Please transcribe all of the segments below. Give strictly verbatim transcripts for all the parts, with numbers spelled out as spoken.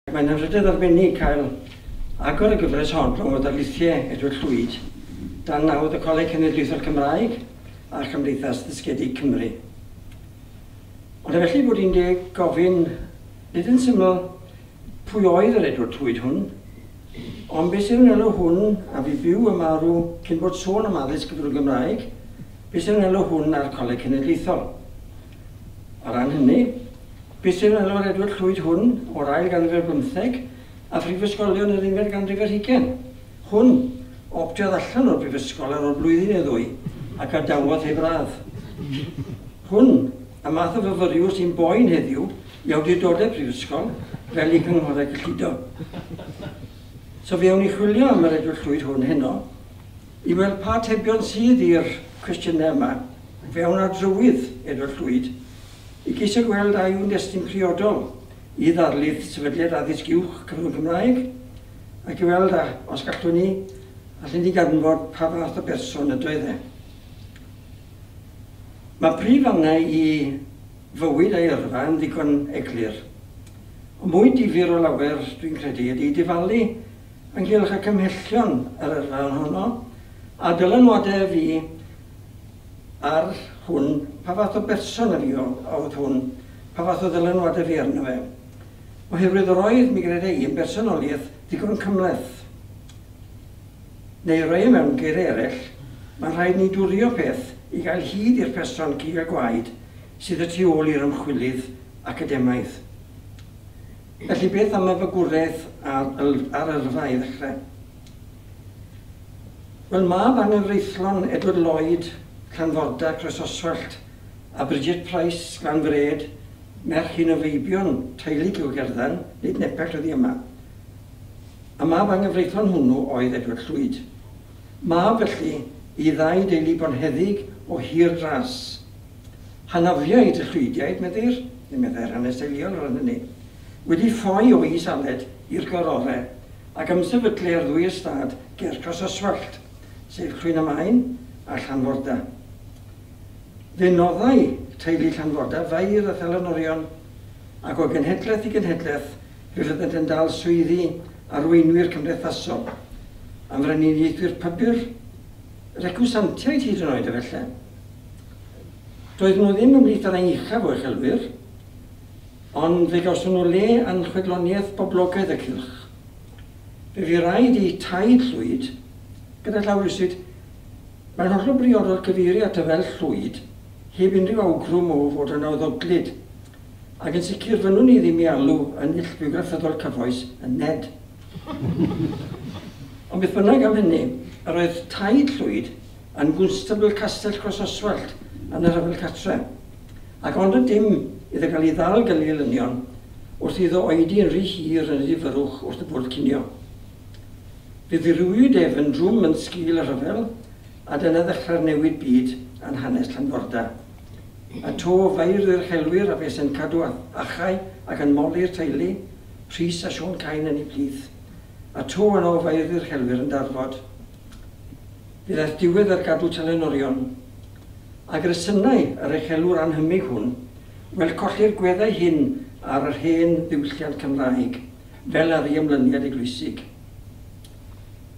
Mae'n anrhydedd arbennig cael agor y gyfres hon o ddarlithiau Edward Llwyd dan nawdd y Coleg Cenedlaethol Cymraeg a Chymdeithas Ddysgedig Cymru. Ond efallai bod hi'n deg gofyn, nid yn syml pwy oedd yr Edward Llwyd hwn, ond beth sydd yn elw hwn a fi byw y marw cyn bod sôn am addysg gyfrwng Gymraeg, beth sydd yn elw hwn ar Coleg Cenedlaethol. O ran hynny, beth sydd yn elw'r Edward Llwyd hwn o'r ail ganrif ar bymtheg a phrifysgolion yr unfed ganrif ar hugain? Hwn optiodd allan o'r brifysgol ar ôl blwyddyn neu ddwy ac adawodd heb radd. Hwn, y math o fyfyriwr sy'n boen heddiw i awdurdodau prifysgol fel i cynghorau cyllido. So fe awn ni chwilio am yr Edward Llwyd hwn heno i weld pa atebion sydd i'r cwestiynau yma. Fe awn ar drywydd Edward Llwyd i geisio gweld a yw'n destun priodol i ddarlith Sefydliad Addysg Uwch Cyfrwng Cymraeg ac i weld a, os gallwn ni, allwn ni ganfod pa fath o berson ydoedd e. Mae prif fannau i fywyd a'i yrfa yn ddigon eglur. Ond mwy difyr o lawer, dwi'n credu, ydy difalu ynghylch y cymhellion yr yrfa honno a dylanwadau fi ar hwn, pa fath o berson y fi oedd hwn, pa fath o ddylanwadau fi arno fe. Oherwydd yr oedd, mi greda i, yn bersonoliaeth ddigon cymhleth. Neu roi mewn geiriau eraill, mae'n rhaid ni dwrio peth i gael hyd i'r person cig a gwaed sydd y tu ôl i'r ymchwilydd academaidd. Felly beth am y fagwraeth ar, ar yrfa i ddechrau? Wel, mab anghyfreithlon Edward Lloyd, Llanforda, Croesoswallt, a Bridget Price, Glanfred, merch un o feibion teulu Gilgerddan, nid nepell oddi yma. A mab anghyfreithlon hwnnw oedd Edward Llwyd. Mab felly i ddau deulu bonheddig o hir dras. Hanafiaid y Llwydiaid, meddir, neu meddai'r hanes teuluol o ran hynny, wedi ffoi o Is Aled i'r gorore ac ymsefydlu ar ddwy ystâd ger Croesoswallt, sef Llwyn y Maen a Llanforda. Fe noddai teulu Llanforda fair a thelynorion, ac o genhedlaeth i genhedlaeth fe fyddent yn dal swyddi arweinwyr cymdeithasol, am frenhiniaethwyr pybyr, recwsantiaid hyd yn oed efallai. Doedd nhw ddim ymhlith yr rhai uchaf o uchelwyr, ond fe gawson nhw le yn chwedloniaeth boblogaidd y cylch. Fe fu raid i taid Llwyd, gyda llaw rywsut, mae'n hollol briodol cyfeirio ato fel Llwyd, heb unrhyw awgrym o fod yn awddoglyd, ac yn sicr fynnwn ni ddim i alw yn null bywgraffyddol cyfoes yn Ned. Ond beth bynnag am hynny, yr oedd taid Llwyd yn gwnstabl Castell Croesoswallt yn y Rhyfel Cartre, ac ond y dim iddo gael ei ddal gan ei elynion wrth iddo oedi yn rhy hir yn y difyrrwch wrth y bwrdd cinio. Fe ddirywiwyd ef yn drwm yn sgil y rhyfel, a dyna ddechrau'r newid byd yn hanes Llanforda. A to feirdd yr uchelwyr a fe sy'n cadw achau ac yn moli'r teulu, Rhys a Siôn Cain yn ei plith, a to yno feirdd yr uchelwyr yn darfod. Fe ddaeth diwedd ar gadw telynorion, ac resynau yr uchelwr anhymig hwn, wel colli'r gweddau hyn ar yr hen ddiwylliant Cymraeg, fel ar ei ymlyniad eglwysig.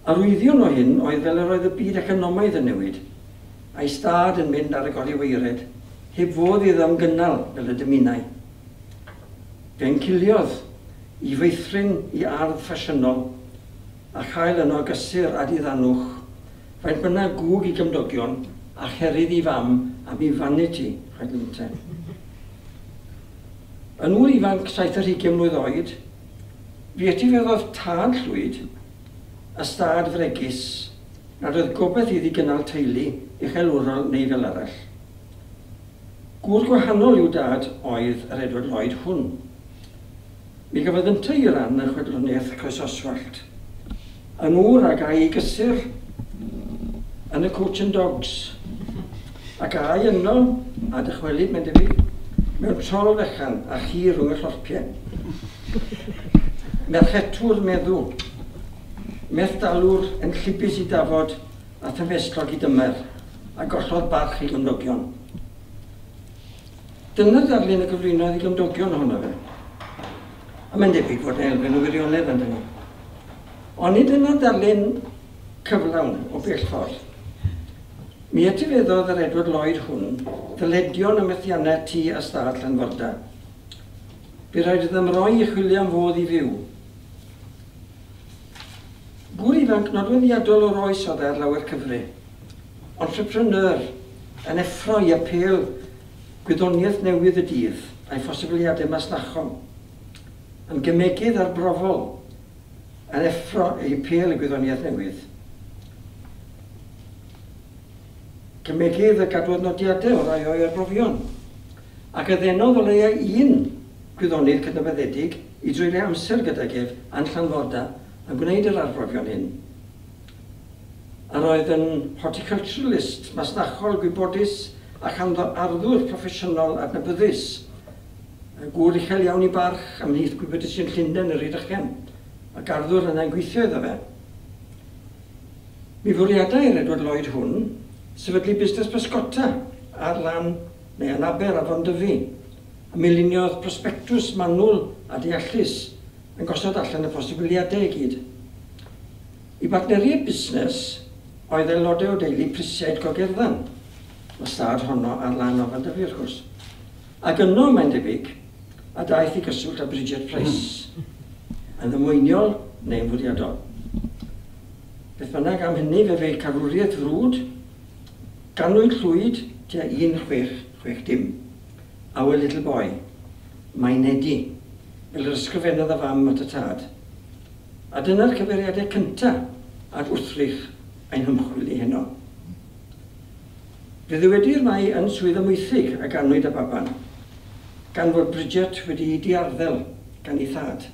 Arwyddion o hyn oedd fel yr oedd y byd economaidd yn newid, a'i stad yn mynd ar y goriweired, heb fodd iddo ymgynnal fel y dymunai. Fe'n ciliodd i feithrin i ardd ffasiynol a chael yno gysur a diddanwch, faint bynnag gwg i gymdogion a cherydd i fam am ei vanity, chwedl ynte. Yn ŵr ifanc saith ar hugain mlwydd oed, fe etifeddodd tad Llwyd ystâd fregus nad oedd gobaith iddi gynnal teulu uchelwrol neu fel arall. Gŵr gwahanol i'w dad oedd yr Edward Lloyd hwn. Mi gafodd yntau i ran yn chwedloniaeth Croesoswallt. Yn ŵr ag a'i gysur yn y Coach and Dogs, ac ai yno, a dychwelyd mae'n debyg, mewn trol fechan a chi rhwng y llorpiau. Merchetwr meddw, methdalwr yn llibus i dafod a thymhestlog i dymer, a gollodd barch i gymdogion. Dyna ddarlun y gyflwynodd i gymdogion ohono fe. A mae'n debyg fod yna elfen o wirionedd yn hynny. Ond nid yna darlun cyflawn o bell ffordd. Mi etifeddodd yr Edward Lloyd hwn ddyledion y methiannau tŷ a stad Llanforda. Bu rhaid iddo ymroi i chwilio am fodd i fyw. Gŵr ifanc nodweddiadol o'r oes oedd e ar lawer cyfri. Entrepreneur, yn effro i apêl gwyddoniaeth newydd y dydd a'i phosibiliadau masnachol. Yn gemegydd arbrofol, yn effro i apêl y gwyddoniaeth newydd. Cemegydd y gadwodd nodiadau o rai o'i arbrofion, ac a ddenodd o leia un gwyddonydd cydnabyddedig i dreulio amser gydag ef yn Llanforda yn gwneud yr arbrofion hyn. Yr oedd yn horticulturalist masnachol gwybodus a chanddo arddwr proffesiynol adnabyddus, gŵr uchel iawn i barch ymhlith gwybodusion Llundain yr Rhydychen, ac arddwr yna'n gweithio iddo fe. Mi fwriadai'r Edward Lloyd hwn sefydlu busnes pysgota ar lan neu yn Aber Afon Dyfi, a mi luniodd prospectus manwl a deallus yn gosod allan y posibiliadau i gyd. I bartneriaid busnes oedd aelodau o deulu Prisiaid Gogerddan, y stad honno ar lan Afon Dyfi wrth gwrs. Ac yno, mae'n debyg, a daeth i gyswllt â Bridget Price, yn ddamweiniol neu'n fwriadol. Beth bynnag am hynny, fe fu carwriaeth frwd, ganwyd Llwyd tua un chwech chwech dim. Our little boy, mae'n Nedi, fel yr ysgrifennodd y fam at y tad. A dyna'r cyfeiriadau cyntaf at wrthrych ein hymchwil i heno. Fe ddywedir mai yn Swydd Amwythig a ganwyd y baban, gan fod Bridget wedi'i diarddel gan ei thad.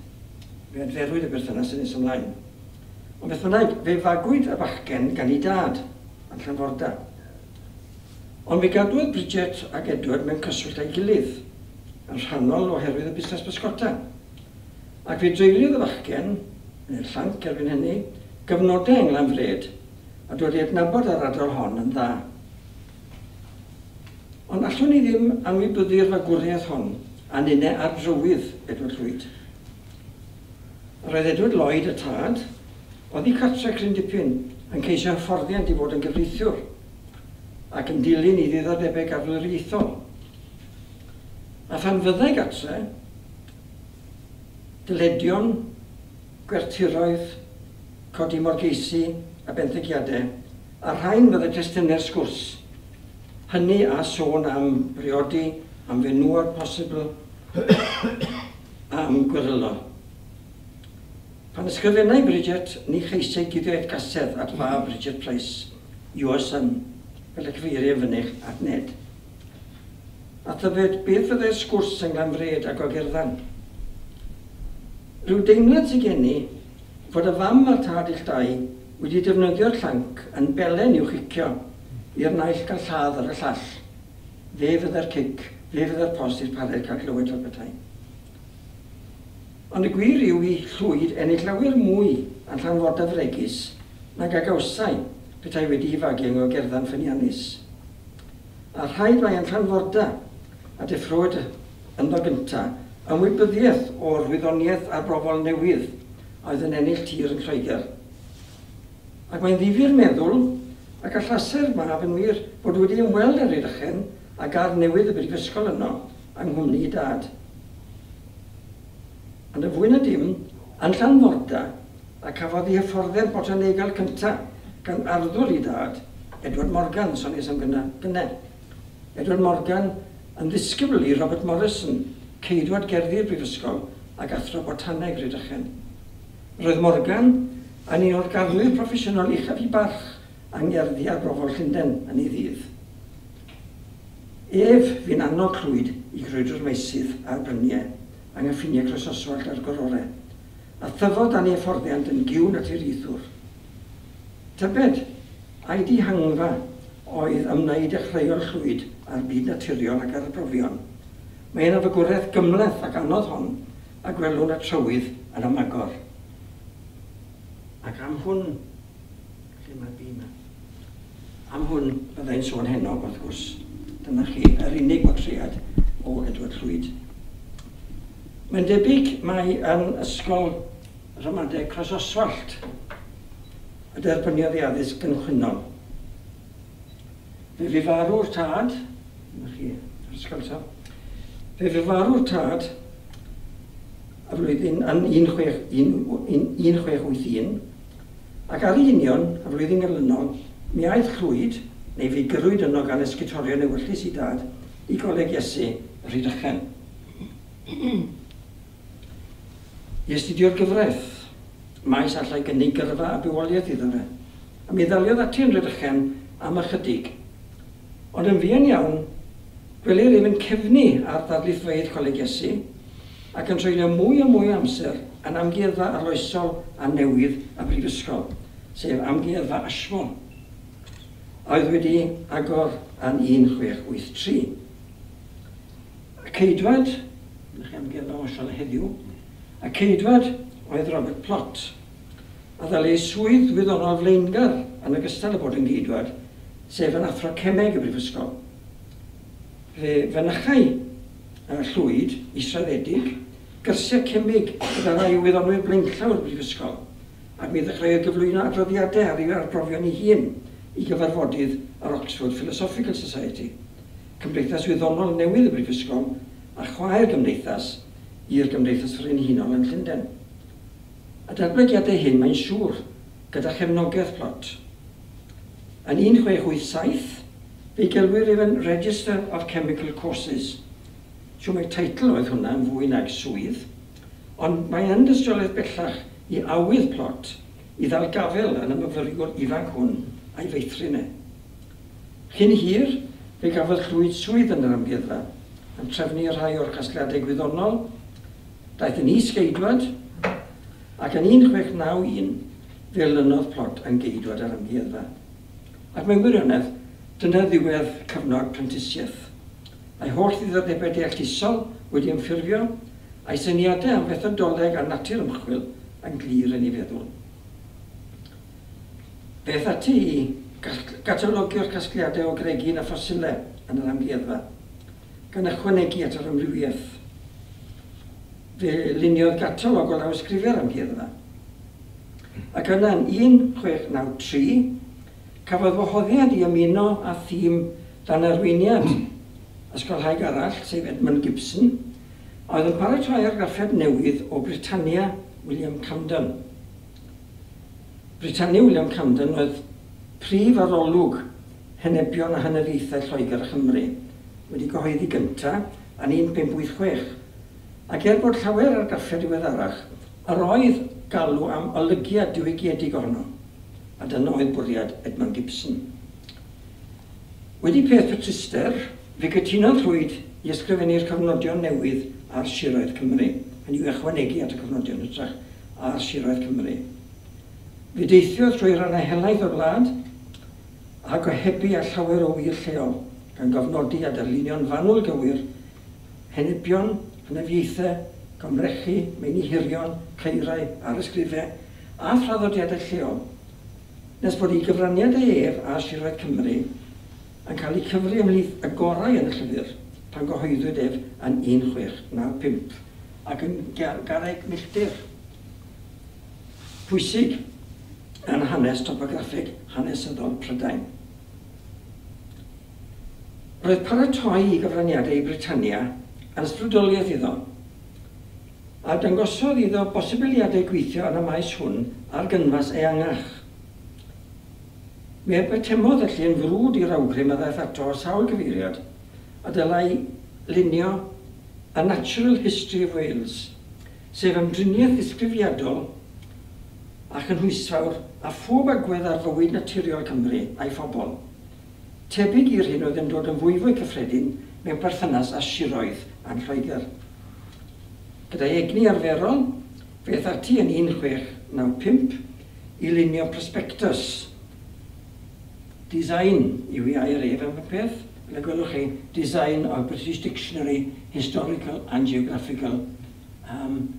Fe adferwyd y berthynas yn nes ymlaen. Ond beth bynnag, fe fagwyd y bachgen gan ei dad, yn Llanforda. Ond fe gadwodd Bridget ac Edward mewn cyswllt â'i gilydd, yn rhannol oherwydd y busnes pysgota. Ac fe dreuliodd y bachgen, neu'r llanc erbyn hynny, gyfnodau yng Nglanfred, a dod i adnabod yr ardal hon yn dda. Ond allwn ni ddim anwybyddu'r fagwriaeth hon, a ninne ar drywydd Edward Llwyd. Yr oedd Edward Lloyd y tad, oddi cartre cryn dipyn, yn ceisio hyfforddiant i fod yn gyfreithiwr, ac yn dilyn i ddiddordebau garddwriaethol. A phan fyddai gartre, dyledion, gwerthiroedd, codi morgeisi a benthyciadau, a rhain fyddai testunau'r sgwrs. Hynny a sôn am briodi, am fenywod posibl, a am gwerylo. Pan ysgrifennai Bridget, ni cheisiai guddio gasedd at fab Bridget Price, your son, fel y cyfeiriau yn fynych at Ned. A tybed, beth fyddai'r sgwrs yng Nglanfred a Gogerddan? Rhyw deimlad sydd gen i fod y fam a'r tad ill dau wedi defnyddio'r llanc yn belen i'w chicio i'r naill gael lladd ar y llall. Fe fydde'r cic, fe fydde'r post i'r pared cael clywed fel petai. Ond y gwir yw i Llwyd ennill lawer mwy yn Llanforda fregus nag a gawsai petai wedi'i fagu yng Ngogerddan ffyniannus. A rhaid mai yn Llanforda a deffrowyd ynddo gynta ymwybyddiaeth o'r wyddoniaeth arbrofol newydd oedd yn ennill tir yn Lloegr. Ac mae'n ddifyr meddwl ac allase'r mab yn wir bod wedi ymweld â'r Rhydychen a gardd newydd y brifysgol yno yng nghwmni ei dad. Ond y fwy na dim, yn Llanforda, a cafodd ei hyfforddiant botanegol cyntaf gan arddwr ei dad, Edward Morgan, soniais am gynna, gynne. Edward Morgan yn ddisgybl i Robert Morrison, ceidwad gerddi'r brifysgol ac athro botaneg Rhydychen. Roedd Morgan yn un o'r garddwyr proffesiynol uchaf i barch yng ngerddi arbrofol Llundain yn ei ddydd. Ef fu'n annog Llwyd i grwydro'r meysydd a'r bryniau yng nghyffiniau Croesoswallt a'r Gororau, a thyfodd dan ei hyfforddiant yn gyw naturiaethwr. Tybed, ai dihangfa oedd ymwneud dechreuol Llwyd â'r byd naturiol ac ar y brofion. Mae yna fagwraeth gymhleth ac anodd hon, a gwelwn y trywydd yn ymagor. Ac am hwn, lle mae'r bîm yma? Am hwn byddai'n sôn heno, wrth gwrs. Dyna chi, yr unig bortread o Edward Llwyd. Mae'n debyg mai yn ysgol ramadeg Croesoswallt y derbyniodd ei addysg gynchwynnol. Fe fu farw'r tad, dyma chi, yr ysgol eto, fe fu farw'r tad y flwyddyn yn un chwech un chwech wyth un, ac ar ei union, y flwyddyn ganlynol, mi aeth Llwyd, neu fe gyrrwyd yno gan ysgutorion ewyllys i dad, i Goleg Iesu, Rhydychen. I astudio'r gyfraith, maes allai gynnig gyrfa a bywoliaeth iddo fe, a mi ddaliodd ati yn Rhydychen am ychydig. Ond yn fuan iawn, gwelir ef yn cefnu ar ddarlithfeydd Coleg Iesu, ac yn treulio mwy a mwy o amser yn amgueddfa arloesol a newydd y Brifysgol, sef Amgueddfa Ashmole, a oedd wedi agor yn un chwech wyth tri. Y ceidwad, ydych chi amgueddfa Ashmole heddiw, y ceidwad oedd Robert Plot, a ddal ei swydd wyddonol flaengar yn ogystal â bod yn geidwad, sef yn athro cemeg y Brifysgol. Fe fynychai Llwyd, israddedig, gyrsiau cemig gyda rhai o wyddonwyr blaenllaw o'r Brifysgol, ac mi ddechreuodd gyflwyno adroddiadau ar ei arbrofion ei hun i gyfarfodydd yr Oxford Philosophical Society, cymdeithas wyddonol newydd y Brifysgol a chwaer gymdeithas i'r Gymdeithas Frenhinol yn Llundain. A datblygiadau hyn, mae'n siŵr, gyda chefnogaeth Plot. Yn un chwech wyth saith, fe gelwir ef yn Register of Chemical Courses. Siw mai teitl oedd hwnna yn fwy nag swydd, ond mae yn dystiolaeth bellach i awydd Plot i ddal gafel yn y myfyriwr ifanc hwn a'i feithrin e. Cyn hir, fe gafodd Llwyd swydd yn yr amgueddfa, yn trefnu rhai o'r casgliadau gwyddonol, daeth yn is-geidwad, ac yn un chwech naw un fe olynodd Plot yn geidwad yr amgueddfa. Ac mewn gwirionedd, dyna ddiwedd cyfnod prentisiaeth. A'i holl ddiddordebau deallusol wedi ymffurfio, a'i syniadau am fethodoleg a natur ymchwil yn glir yn ei feddwl. Beth ati i gatalogio'r casgliadau o gregyn a ffosilau yn yr amgueddfa, gan ychwanegu at yr amrywiaeth. Fe luniodd gatalog o lawysgrifau'r amgueddfa. Ac yna yn un chwech naw tri, cafodd wahoddiad i ymuno â thîm dan arweiniad ysgolhaig arall, sef Edmund Gibson, a oedd yn paratoi argraffiad newydd o Britannia William Camden. Britannia William Camden oedd prif arolwg henebion a hynafiaethau Lloegr a Chymru, wedi gyhoeddi gyntaf yn un pump wyth chwech, ac er bod llawer argraffiad diweddarach, yr oedd galw am olygiad diwygiedig ohono, a dyna oedd bwriad Edmund Gibson. Wedi peth petruster, fe gytunodd Llwyd i ysgrifennu'r cofnodion newydd ar siroedd Cymru, hynny yw ychwanegu at y cofnodion hytrach ar siroedd Cymru. Fe deithiodd trwy rannau helaeth o'r wlad a gohebu â llawer o wir lleol, gan gofnodi a darlunio'n fanwl gywir henebion, hynafiaethau, gomrechu, meini hirion, caerau, arysgrifau a thraddodiadau lleol, nes bod ei gyfraniadau ef a siroedd Cymru yn cael eu cyfri ymhlith y gorau yn y llyfr pan gyhoeddwyd ef yn un chwech naw pump ac yn garreg milltir pwysig yn hanes topograffig hanesyddol Prydain. Roedd paratoi i gyfraniadau i Britannia yn ysbrydoliaeth iddo, a dangosodd iddo bosibiliadau gweithio yn y maes hwn ar gynfas eangach. Mi atemodd felly yn frwd i'r awgrym a ddaeth ato o sawl cyfeiriad, a dylai lunio A Natural History of Wales, sef ymdriniaeth ddisgrifiadol a chynhwysfawr a phob agwedd ar fywyd naturiol Cymru a'i phobl, tebyg i'r hyn oedd yn dod yn fwyfwy cyffredin mewn perthynas â siroedd a'n Lloegr. Gyda'i egni arferol, fe aeth ati yn un chwech naw pump i lunio prospectus. Design yw ei air ef am y peth, fel y gwelwch chi, Design of British Dictionary, Historical and Geographical, um,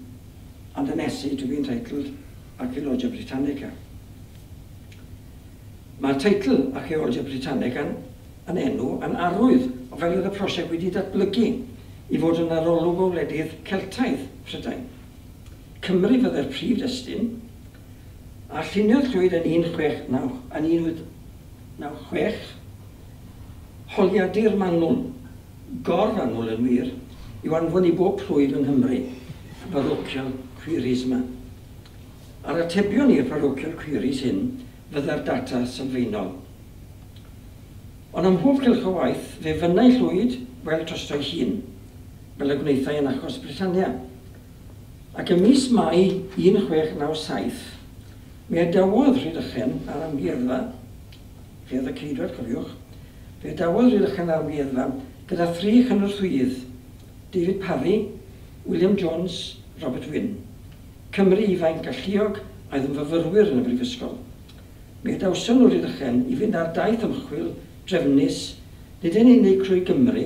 and an essay to be entitled Archaeologia Britannica. Mae'r teitl Archaeologia Britannica yn, yn enw yn arwydd o fel oedd y prosiect wedi datblygu i fod yn arolwg o wledydd Celtaidd Prydain. Cymru fyddai'r prif destun, a lluniodd Llwyd yn un chwech naw, yn un wyth naw chwech, holiadur manwl, gor-fanwl yn wir, i'w anfon i bob plwyf yng Nghymru, y parochial queries yma. A'r atebion i'r parochial queries hyn fyddai'r data sylfaenol. Ond ym mhob cylch o waith, fe fynnai Llwyd weld drosto'i hun, fel y gwnaethai yn achos Britannia. Ac ym mis Mai un chwech naw saith, mi adawodd Rhydychen a'r amgueddfa, fe oedd y ceidwad, cofiwch, fe adawodd Rhydychen a'r amgueddfa gyda thri chynorthwyydd, David Parry, William Jones, Robert Wynne. Cymru ifainc galluog oedd yn fyfyrwyr yn y brifysgol. Mi adawson nhw Rhydychen i fynd ar daith ymchwil drefnus, nid yn unig trwy Gymru,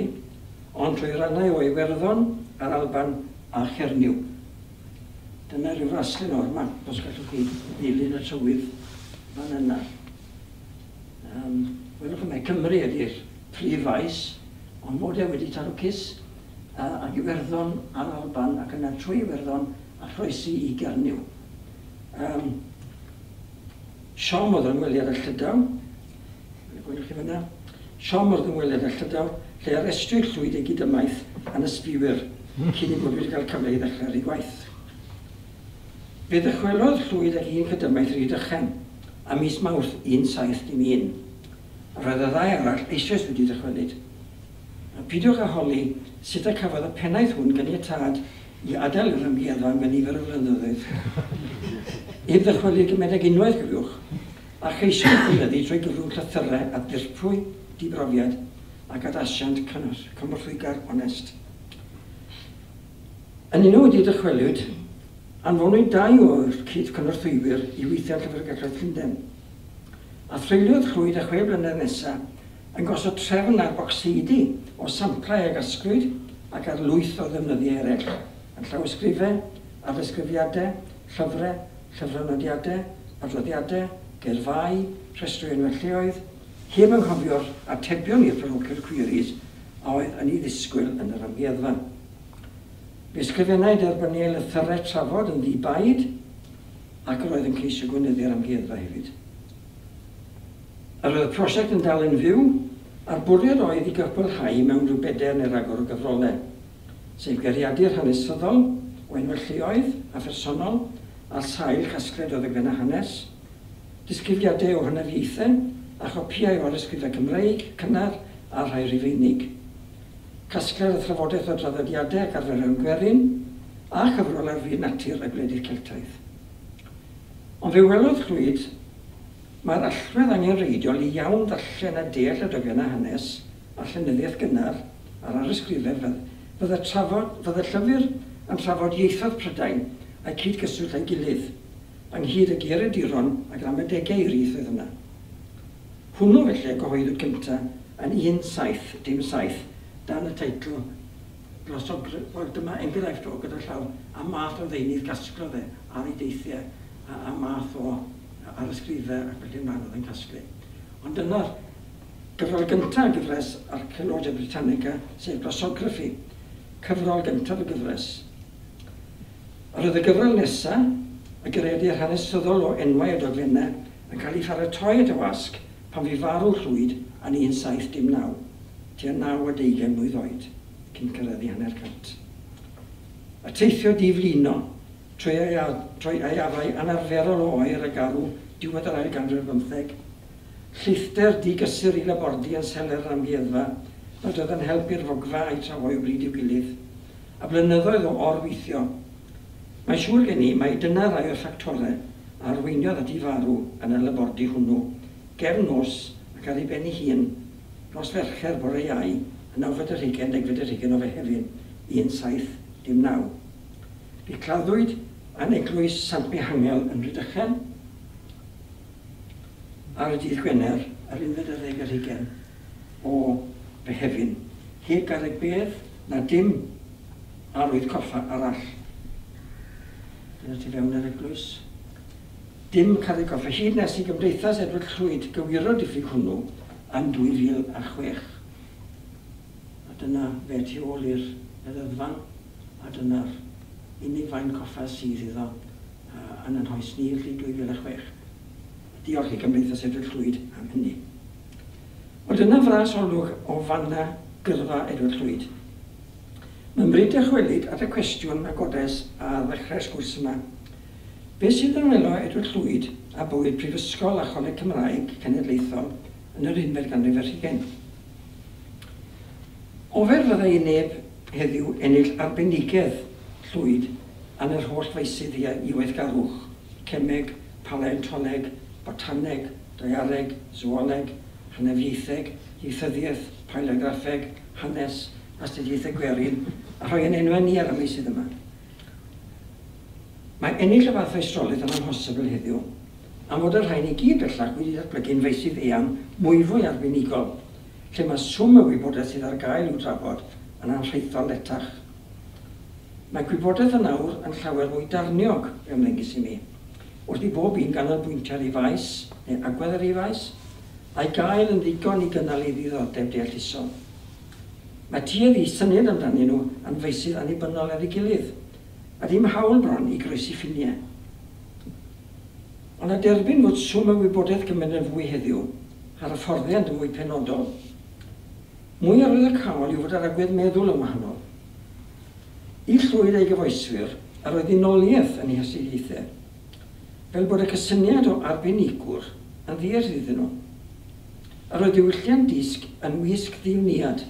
ond trwy rannau o Iwerddon, a'r Alban a Chernyw. Dyna rhyw fraslun o'r map, os gallwch chi ddilyn y trywydd fan yna. Um, welwch yma, Cymru ydy'r prif faes, ond mod e wedi taro cys uh, ag Iwerddon a'r Alban ac yna trwy Iwerddon a chroesi i Gernyw. Um, Siom oedd yr ymweliad â Llydaw, gwelwch chi fyna, siom oedd ymweliad â Llydaw, lle arestiwyd Llwyd ei gydymaith yn ysbiwyr, cyn ei bod wedi cael cyfle i ddechrau ar ei gwaith. Fe ddychwelodd Llwyd ag un cydymaith Rhydychen am mis Mawrth un saith dim un. A roedd y ddau arall eisoes wedi dychwelyd. A peidiwch â holi sut y cafodd y pennaeth hwn ganiatâd i adael yr amgueddfa am nifer o flynyddoedd. Heb ddychwelyd gymaint ag unwaith, cofiwch, a cheisiodd gweinyddu trwy gyfrwng llythyrau a dirprwy dibrofiad ac at asiant cymorthwygar onest. Yn unw wedi dychwelyd, anfonwyd dau o'r cyd-cynorthwywyr i weithio ar Llyfrgelloedd Llundain. A threuliodd Llwyd y chwe blynedd nesaf yn gosod trefn ar bocseidi o samplau a gasglwyd ac ar lwyth o ddefnyddiau eraill, yn llawysgrifau, arysgrifiadau, llyfrau, llyfrynodiadau, adroddiadau, gerfau, rhestrau enwau lleoedd, heb anghofio'r atebion i'r parochial queries a oedd yn ei ddisgwyl yn yr amgueddfa. Fe ysgrifennai derbyniau lythyrau trafod yn ddi-baid ac yr oedd yn ceisio gweinyddu'r amgueddfa hefyd. Yr oedd y prosiect yn dal yn fyw, a'r bwriad oedd i gyfblhau mewn rhyw bedair neu ragor o gyfrolau, sef geiriadur hanesyddol o enwau lleoedd a phersonol ar sail casgliad o ddogfennau hanes, disgrifiadau o hynafiaethau a chopïau o arysgrifau Cymreig, cynnar a rhai Rufeinig. Casgliad a thrafodaeth o draddodiadau ac arferion gwerin, a chyfrol ar fyd natur a gwledydd Celtaidd. Ond fe welodd Llwyd mae'r allwedd angenrheidiol i iawn ddarllen a deall y dogfennau hanes a llenyddiaeth gynnar a'r arysgrifau fydde trafod, fydde llyfr yn trafod ieithoedd Prydain a'i cyd-gyswllt â'i gilydd, ynghyd â geiriaduron a gramadegau i'r ieithoedd yna. Hwnnw felly gyhoeddwyd gyntaf yn un saith dim saith dan y teitl Glossography. Wel, dyma enghraifft o gyda llaw a math o ddeunydd gasglodd e ar ei deithiau a, a math o arysgrifau ac felly ymlaen oedd yn casglu. Ond dyna'r gyfrol gyntaf gyfres Archaeologia Britannica, sef Glossography, cyfrol gyntaf y gyfres. Yr oedd y gyfrol nesaf, y geiriadur hanesyddol o enwau a dogfennau, yn cael ei pharatoi at y wasg pan fu farw Llwyd yn un saith dim naw, tua naw a deugain mlwydd oed, cyn cyrraedd i hanner cant. Y teithio diflino trwy trwy aeafau anarferol o oer a garw diwedd yr ail ganrif bymtheg, lleithder digysur i labordy yn seler yr amgueddfa, nad oedd yn helpu'r fogfa a'i trafoi o bryd i'w gilydd, a blynyddoedd o orweithio. Mae'n siŵr gen i mai dyna rai o'r ffactorau a arweiniodd at ei farw yn y labordy hwnnw, gefn nos ac ar ei ben ei hun, nos Fercher bore Iau, y nawfed ar hugain, degfed ar hugain o Fehefin, un saith dim naw. Fe claddwyd yn eglwys Sant Mihangel yn Rhydychen ar y dydd Gwener, yr unfed ar ddeg ar hugain o Fehefin, heb garreg bedd na dim arwydd coffa arall. Dyna tu fewn yr eglwys. Dim carreg coffa, hyd nes i Gymdeithas Edward Llwyd gywiro diffyg hwnnw yn dwy fil a chwech. A dyna fe tu ôl i'r y ddyddfan, a dyna'r unig faen coffa sydd iddo uh, yn yn hoes ni, felly dwy fil a chwech. Diolch i Gymdeithas Edward Llwyd am hynny. Wel, dyna fras olwg o fanna gyrfa Edward Llwyd. Mae'n bryd dychwelyd at y cwestiwn a godes ar ddechrau'r sgwrs yma. Beth sydd yn welo Edward Llwyd a bywyd Prifysgol a Choleg Cymraeg Cenedlaethol yn yr unfed ganrif ar hugain? Ofer fyddai i neb heddiw ennill arbenigedd Llwyd yn yr holl feysydd i weithgarwch, cemeg, paleontoleg, botaneg, daeareg, zooleg, hynafiaetheg, ieithyddiaeth, paleograffeg, hanes, astudiaethau gwerin, a rhoi yn enwau ni ar y meysydd yma. Mae ennill y fath feistrolaeth yn amhosibl heddiw, am fod y rhain i gyd bellach wedi datblygu'n feysydd eang mwyfwy arbenigol, lle mae swm y wybodaeth sydd ar gael i'w drafod yn anrhaethol letach. Mae gwybodaeth yn awr yn llawer mwy darniog, fe ymddengys i mi, wrth i bob un ganolbwyntio ar ei faes, neu agwedd ar ei faes, a'i gael yn ddigon i gynnal ei ddiddordeb deallusol. Mae tuedd i syniad amdanyn nhw yn feysydd annibynnol ar ei gilydd, a dim hawl bron i groesi ffiniau. Ond a derbyn fod swm y wybodaeth gymaint yn fwy heddiw, a'r hyfforddiant yn fwy penodol, mwy arwyddocaol yw fod yr agwedd meddwl yn wahanol. I Llwyd a'i gyfoeswyr, yr oedd unoliaeth yn ei hastudiaethau, fel bod y cysyniad o arbenigwr yn ddiarth iddyn nhw. Yr oedd diwylliant disg yn wisg ddiwniad,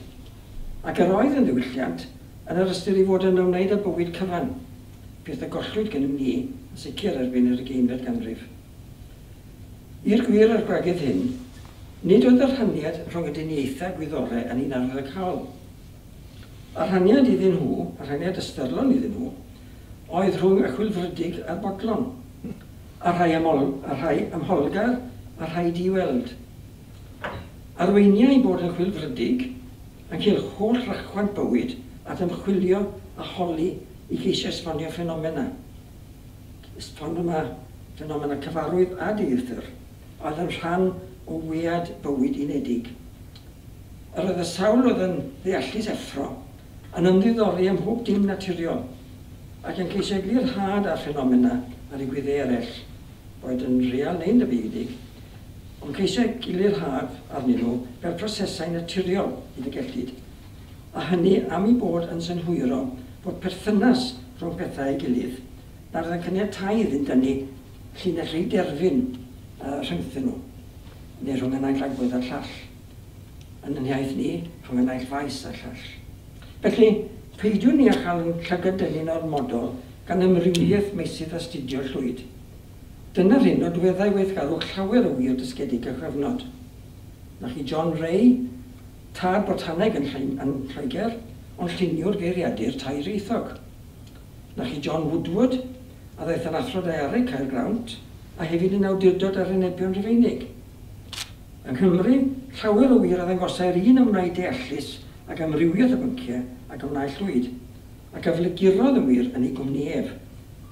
ac yr oedd yn ddiwylliant yn yr ystyr i fod yn ymwneud â bywyd cyfan, peth a gollwyd gennym ni yn sicr erbyn yr ugeinfed ganrif. I'r gwir a'r gwragedd hyn, nid oedd y rhaniad rhwng y dyniaethau gwyddorau yn un arwyddocaol. Y rhaniad iddyn nhw, y rhaniad ystyrlon iddyn nhw, oedd rhwng y chwilfrydig a'r bodlon, a rhai, ymol, a rhai ymholgar a rhai di-weld. Arweiniai bod yn chwilfrydig yn cael holl rachwant bywyd at ymchwilio a holi i geisio esbonio ffenomena. Esbonio ffenomena cyfarwydd a dieithr, oedd yn rhan o wead bywyd unedig. Yr oedd y sawl oedd yn ddeallus effro yn ymddiddori ym mhob dim naturiol ac yn ceisio eglurhad ar ffenomena a ddigwyddau eraill, boed yn real neu'n dybiedig, ond ceisio eglurhad arnyn nhw fel prosesau naturiol hyd y gellid, a hynny am eu bod yn synhwyro bod perthynas rhwng pethau ei gilydd, nad oedd yn caniatáu iddynt dynnu llinell rhy derfyn uh, rhyngthyn nhw, neu rhwng y naill agwedd a'r llall. Yn yn iaith ni, rhwng y naill faes a'r llall. Felly, peidiwn ni â chael yn llygad-dynnu'n ormodol gan amrywiaeth meysydd astudio Llwyd. Dyna'r hyn nodweddau weithgarwch llawer o wir dysgedig a chyfnod. Na chi John Ray, tad botaneg yn, yn Lloegr, ond lluniwr geiriadur tairieithog. Na chi John Woodward, a ddaeth yn athro daeareg Caergrawnt, a hefyd yn awdurdod ar henebion Rufeinig. Yng Nghymru, llawer o wir a ddangosai'r un ymwneud deallus ac amrywiaeth o bynciau ac ymwneud Llwyd, ac a flygurodd yn wir yn ei gwmni ef.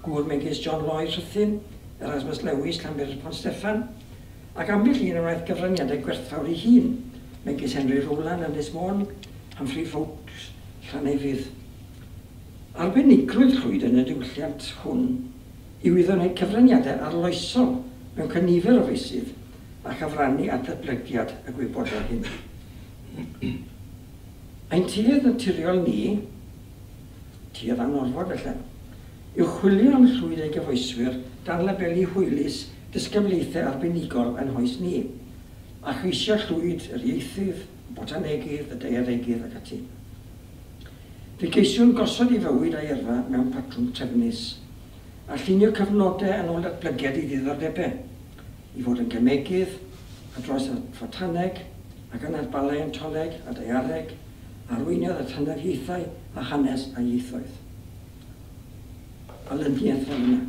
Gŵr megis John Lloyd Rhuthun, Erasmus Lewis, Llanbedr Pont Steffan, ac ambell un a wnaeth gyfraniadau gwerthfawr ei hun, megis Henry Rowland, Ynys Môn, Humphrey Fowkes, Llannefydd. Arbenigrwydd Llwyd yn y diwylliant hwn yw iddo wneud cyfraniadau arloesol mewn cynifer o feysydd a chyfrannu at ddatblygiad y gwybodaeth hyn. Ein tuedd naturiol ni, tuedd anorfod felly, yw chwilio am Llwyd a'i gyfoeswyr dan labelu hwylus disgyblaethau arbenigol yn hoes ni, a cheisio Llwyd yr ieithydd, y botanegydd, y daearegydd ac ati. Fe geisiwn gosod ei fywyd a'i yrfa mewn patrwm trefnus, a llunio cyfnodau yn ôl datblygiad ei ddiddordebau, i fod yn gemegydd, a dros at fotaneg, ac yna at baleontoleg a daeareg, arweiniodd at hynafiaethau a hanes a ieithoedd. Olyniaeth fel yna.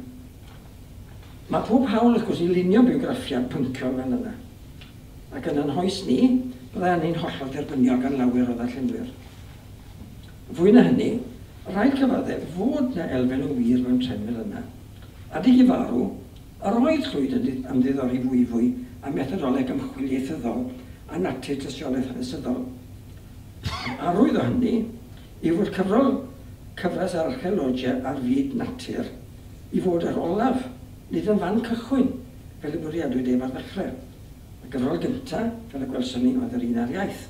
Mae pob hawl, wrth gwrs, i lunio biograffiad pynciol fel yna. Ac yn yn hoes ni, byddai hynny'n hollol dderbyniol gan lawer o ddarllenwyr. Fwy na hynny, rhaid cyfaddef fod na elfen o wir mewn trefn fel yna. Adeg i farw, yr oedd Llwyd yn ymddiddori fwyfwy am methodoleg ymchwil ieithyddol a natur tystiolaeth hanesyddol. Arwydd o hynny yw fod cyfrol cyfres Archaeologia ar fyd natur i fod yr olaf, nid yn fan cychwyn, fel y bwriadwyd ef ar ddechrau. Y gyfrol gyntaf, fel y gwelson ni, oedd yr un ar iaith.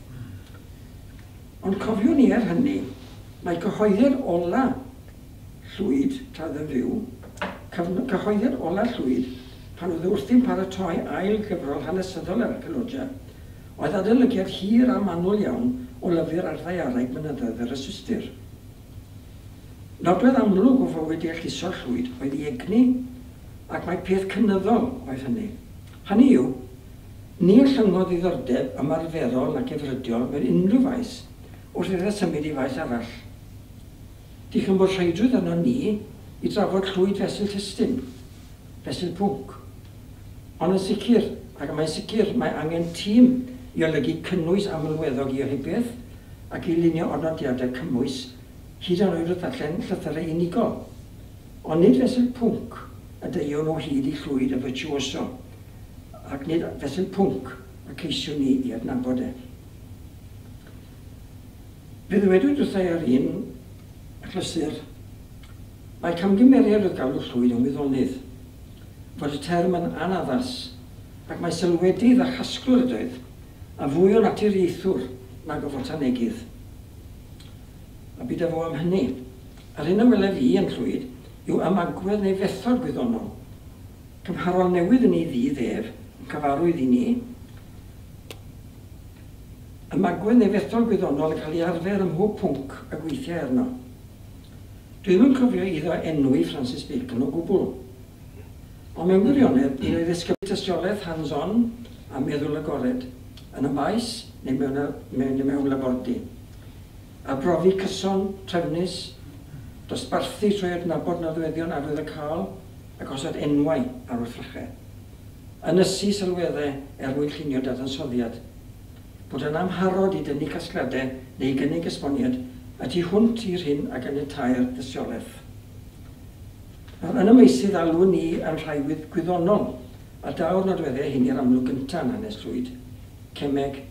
Ond cofiwn ni er hynny, mae cyhoeddiad ola Llwyd, tra oedd yn fyw, cyhoeddiad ola Llwyd, pan oedd wrthi'n paratoi ail gyfrol hanesyddol yr Archaeologia, oedd adolygiad hir a manwl iawn o lyfr ar ddaeareg mynyddoedd yr Yswistir. Nodwedd amlwg o fywyd deallusol Llwyd oedd ei egni, ac mae peth cynyddol oedd hynny. Hynny yw, ni ollyngodd ddiddordeb ymarferol ac efrydiol mewn unrhyw faes wrth iddo symud i faes arall. Dichon bod rheidrwydd arno ni i drafod Llwyd fesul testun, fesul pwnc. Ond yn sicr, ac mae'n sicr, mae angen tîm i olygu cynnwys amlweddog i ohebiaeth ac i lunio ornodiadau cymwys hyd yn oed wrth ddarllen llythyrau unigol. Ond nid fesul pwnc y deuwn o hyd i Llwyd y virtuoso, ac nid fesul pwnc y ceisiwn ni i adnabod e. Fe ddywedwyd wrtha i ar un achlysur, mae camgymeriad oedd galw Llwyd yn wyddonydd, fod y term yn anaddas, ac mae sylwedydd a chasglwr ydoedd, a fwy o naturiaethwr nag o fotanegydd. A byd â fo am hynny. Yr hyn a welef i yn Llwyd yw ymagwedd neu fethod gwyddonol, cymharol newydd yn ei ddydd ef, yn cyfarwydd i ni, ymagwedd neu fethod gwyddonol yn cael ei arfer ym mhob pwnc a gweithiau arno. Dwi ddim yn cofio iddo enwi Francis Bacon o gwbl. Ond mewn gwirionedd, un o'i ddisgyblu tystiolaeth hands-on a meddwl agored, yn y maes neu mewn, mewn, mewn labordy. A brofi cyson, trefnus, dosbarthu trwy adnabod nodweddion arwyddocaol a gosod enwau ar wrthrychau. Ynysu sylweddau er mwyn llunio dadansoddiad. Bod yn amharod i dynnu casgliadau neu gynnig esboniad a tu hwnt i'r hyn a ganiatâi'r dystiolaeth. Nawr, yn y meysydd alw ni yn rhai gwyddonol, a daw'r nodweddau hyn i'r amlwg gyntaf yn hanes Llwyd, cemeg,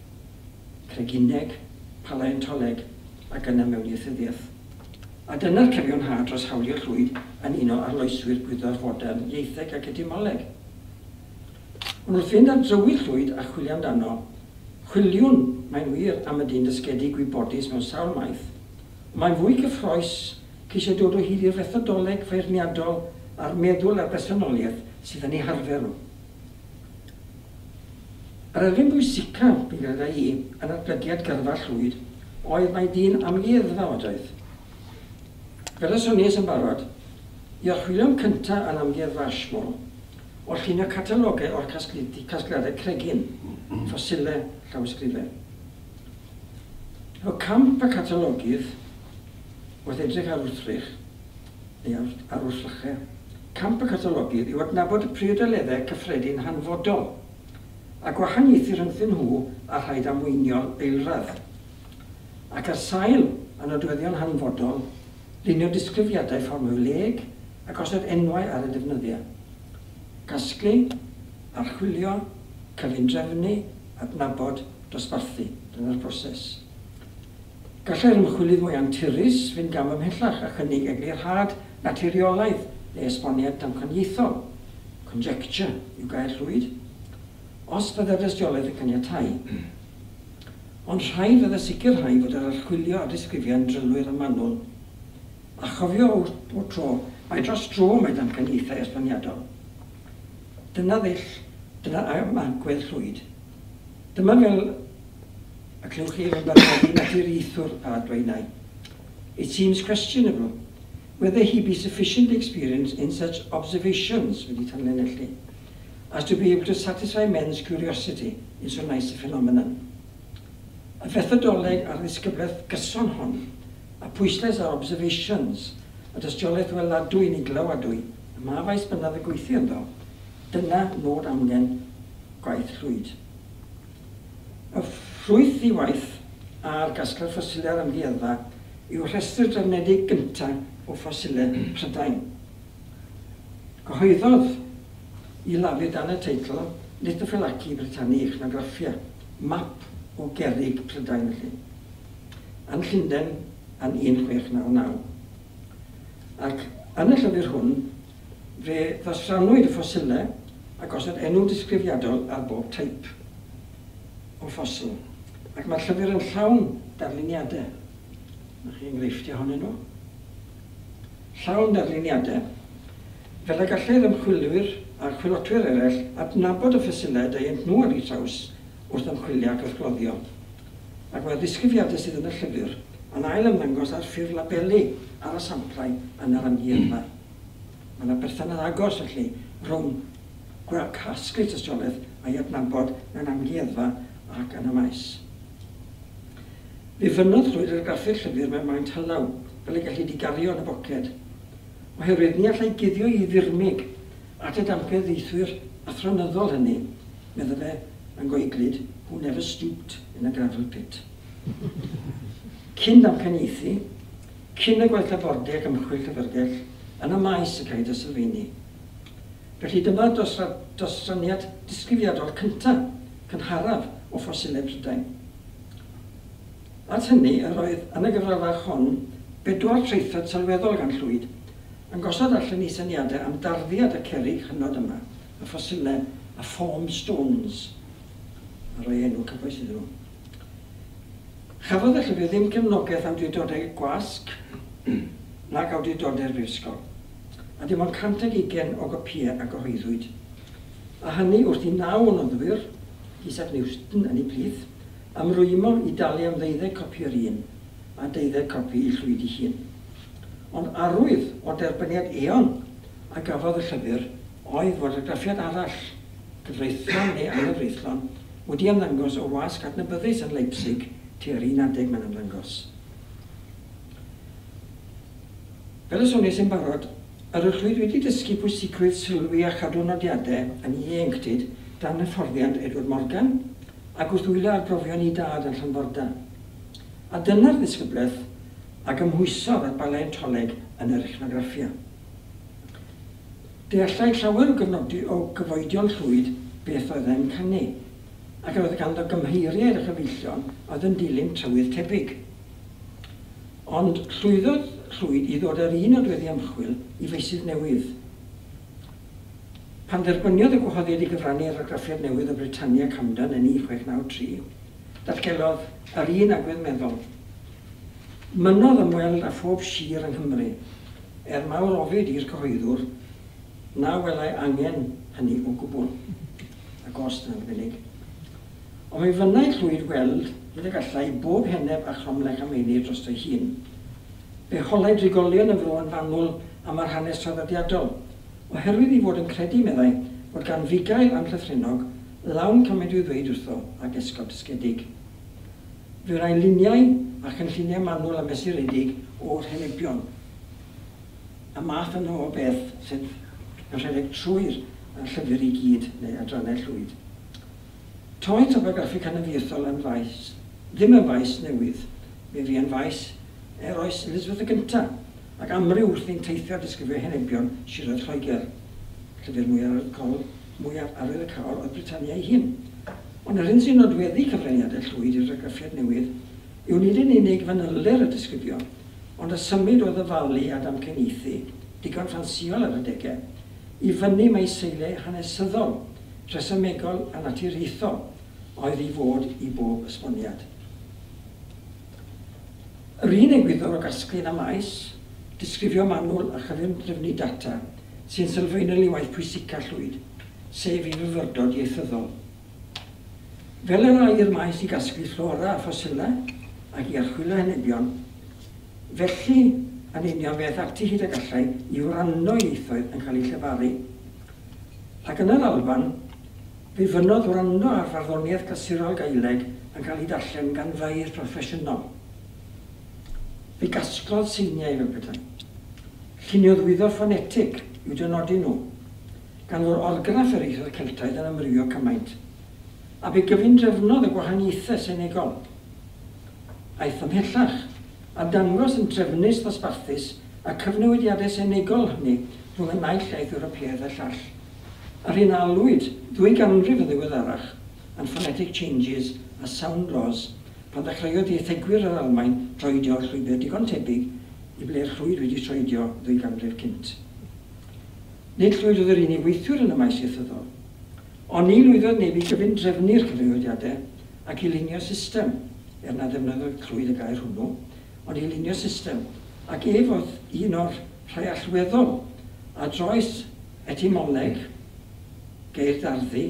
cregineg, paleontoleg ac yna mewn ieithyddiaeth. A dyna'r cyfiawnhad dros hawlio Llwyd yn un o arloeswyr gwyddor fodern, ieitheg ac etymoleg. Ond wrth fynd ar drywydd Llwyd a chwilio amdano, chwiliwn, mae'n wir, am y dyn dysgedig gwybodus mewn sawl maeth. Mae'n fwy cyffrous ceisio dod o hyd i'r fethodoleg feirniadol a'r meddwl a'r bersonoliaeth sydd yn ei harfer nhw. Yr elfen bwysicaf, fi'n credu i, yn datblygiad gyrfa Llwyd, oedd mai dyn amgueddfa oedd. Fel y soniais yn barod, i archwilio'n cyntaf yn amgueddfa Ashmole, o llunio catalogau o'r casgliadau cregyn, ffosilau, llawysgrifau. Efo camp y catalogydd, wrth edrych ar wrthrych, neu ar wrthrychau, camp y catalogydd yw adnabod y priodoleddau cyffredin hanfodol a gwahaniaethu rhyngthyn nhw a rhai damweiniol eilradd. Ac ar sail y nodweddion hanfodol, lunio disgrifiadau fformiwlëig a gosod enwau ar y defnyddiau. Casglu, archwilio, cyfundrefnu, adnabod, dosbarthu. Dyna'r broses. Gallai'r ymchwilydd mwy anturus fynd gam ymhellach a chynnig eglurhad naturiolaidd neu esboniad damcaniaethol, conjecture yw gair Llwyd, os byddai'r dystiolaeth yn caniatáu. Ond rhaid fydde sicrhau fod yr archwilio a'r disgrifiad yn drylwyr a manwl. A chofio bob tro, mae dros dro mae damcaniaethau esboniadol. Dyna ddull, dyna ymagwedd Llwyd. Dyma fel y clywch chi yn barodi naturiaethwr a adwaenai. It seems questionable whether he be sufficiently experienced in such observations, wedi tanlinellu, as to be able to satisfy men's curiosity in so nice a phenomenon. Y fethodoleg a'r ddisgyblaeth gyson hon, a pwyslais ar observations, y dystiolaeth weladwy neu glywadwy, y ma faes bynnag y gweithio ynddo, dyna nod amgen gwaith Llwyd. Y ffrwyth i waith ar gasgliad ffosilau amgueddfa yw rhestr drefnedig gyntaf o ffosilau Prydain. Cyhoeddodd i lafur dan y teitl Lithophylaci Britanniae Ichnographia, map o gerrig Prydain felly. Yn Llundain yn un chwech naw naw. Ac yn y llyfr hwn, fe ddosrannwyd y ffosilau a gosod enw disgrifiadol ar bob teip o ffosil. Ac mae'r llyfr yn llawn darluniadau. Na chi enghreifftiau ohonyn nhw. Llawn darluniadau. Fel y gallai'r ymchwilwyr a'r chwilotwyr eraill adnabod y ffosilau deuent nhw ar eu traws wrth ymchwilio ac wrth gloddio. Ac mae'r disgrifiadau sydd yn y llyfr yn ail ymddangos ar ffurf labelu ar y samplau yn yr amgueddfa. Mae yna berthynas agos felly rhwng casglu tystiolaeth a'i adnabod mewn amgueddfa ac yn y maes. Fe fynnodd Llwyd argraffu'r llyfr mewn maint hylaw, fel y gellid ei gario yn y boced, oherwydd ni allai guddio ei ddirmyg at y damcaniaethwyr athronyddol hynny, medde fe yn goeglyd, who never stooped in a gravel pit. Cyn damcaniaethu, cyn y gwaith labordy ac ymchwil llyfrgell, yn y maes y caed y sylfeini. Felly dyma dosraniad disgrifiadol cyntaf, cynharaf o ffosilau Prydain. At hynny, yr oedd yn y gyfrol fach hon bedwar traethawd sylweddol gan Llwyd, yn gosod allan ei syniadau am darddiad y cerrig hynod yma, y ffosilau, y form stones, a rhoi enw cyfoes iddyn nhw. Chafodd y llyfr ddim cefnogaeth awdurdodau gwasg nag awdurdodau'r brifysgol, a dim ond cant ag ugain o gopïau a gyhoeddwyd. A hynny wrth i naw o noddwyr, Isaac Newton yn ei plith, ymrwymo i dalu am ddeuddeg copi yr un a deuddeg copi i Llwyd ei hun. Ond arwydd o derbyniad eon a gafodd y llyfr oedd fod argraffiad arall, gyfreithlon neu anghyfreithlon, wedi ymddangos o wasg adnabyddus yn Leipzig tua'r un adeg mae'n ymddangos. Fel y soniais yn barod, yr oedd Llwyd wedi dysgu pwysigrwydd sylwi a chadw nodiadau yn ieuenctid dan hyfforddiant Edward Morgan ac wrth wylio arbrofion ei dad yn Llanforda. A dyna'r ddisgyblaeth a gymhwysodd at baleontoleg yn yr ichnograffia. Deallai llawer o gyfnodi o gyfoedion Llwyd beth oedd e'n canu, ac yr oedd ganddo gymheiriaid a chyfeillion oedd yn dilyn trywydd tebyg. Ond llwyddodd Llwyd i ddod ar un nodweddi ymchwil i feysydd newydd. Pan dderbyniodd y gwahoddiad i gyfrannu ar argraffiad newydd o Britannia Camden yn un chwech naw tri, datgelodd yr un agwedd meddwl. Mynnodd ymweld â phob sir yng Nghymru, er mawr ofid i'r cyhoeddwr, na welai angen hynny o gwbl, a gost yn arbennig. Ond mi fynnai Llwyd weld hyd y gallai bob heneb a chromlech a meini drosto'i hun. Fe holai drigolion y fro yn fanwl am yr hanes traddodiadol, oherwydd ei fod yn credu, meddai, fod gan fugail anllythrennog lawn cymaint i'w ddweud wrtho ac esgob dysgedig. Fe wnae luniau a chynlluniau manwl a mesuredig o'r henebion. Y math yno o beth sydd yn rhedeg trwy'r llyfr i gyd neu adrannau Llwyd. Toedd topograffi canafiaethol yn faes, ddim yn faes newydd, fe fu yn faes er oes Elizabeth y Gyntaf, ac amryw wrth i'n teithio a disgrifio henebion siroedd Lloegr. Llyfr mwyaf arwyddocaol oedd Britannia ei hun. Ond yr hyn sy'n nodweddu cyfraniadau Llwyd i'r argraffiad newydd yw nid yn unig fanylder y disgrifio, ond y symud o ddyfalu a damcaniaethu, digon ffansïol ar adegau, i fyny mae seiliau hanesyddol, rhesymegol a naturiaethol oedd i fod i bob esboniad. Yr un egwyddor o gasglu yn y maes, disgrifio manwl a chyfundrefnu data sy'n sylfaenol i waith pwysica Llwyd, sef i fyfyrdod ieithyddol. Fel yr âi i'r maes i gasglu fflora a ffosilau ac i archwilio henebion, felly yn union fe aeth ati hyd y gallai i wrando ieithoedd yn cael eu llefaru. Ac yn yr Alban, fe fynnodd wrando ar farddoniaeth glasurol Gaeleg yn cael ei darllen gan feirdd proffesiynol. Fe gasglodd seiniau fel petai. Lluniodd wyddor ffonetig i'w dynodi nhw, gan fod orgraff yr ieithoedd Celtaidd yn amrywio cymaint, a fe gyfundrefnodd y gwahaniaethau senegol. Aeth ymhellach a dangos yn trefnus ddosbarthus y cyfnewidiadau senegol hynny rhwng y naill iaith Ewropeaidd a'r llall. Yr hyn a alwyd ddwy ganrif yn ddiweddarach yn phonetic changes a sound laws pan ddechreuodd ieithegwyr yr Almaen droedio llwybr digon tebyg i ble'r Llwyd wedi troedio ddwy ganrif cynt. Nid Llwyd oedd yr unig weithiwr yn y maes ieithyddol, ond ni lwyddodd neb i gyfundrefnu'r cyfrifiadau ac i lunio system, er na ddefnyddiodd Llwyd y gair hwnnw, ond i lunio system, ac ef oedd un o'r rhai allweddol a droes etymoleg, geirdarddu,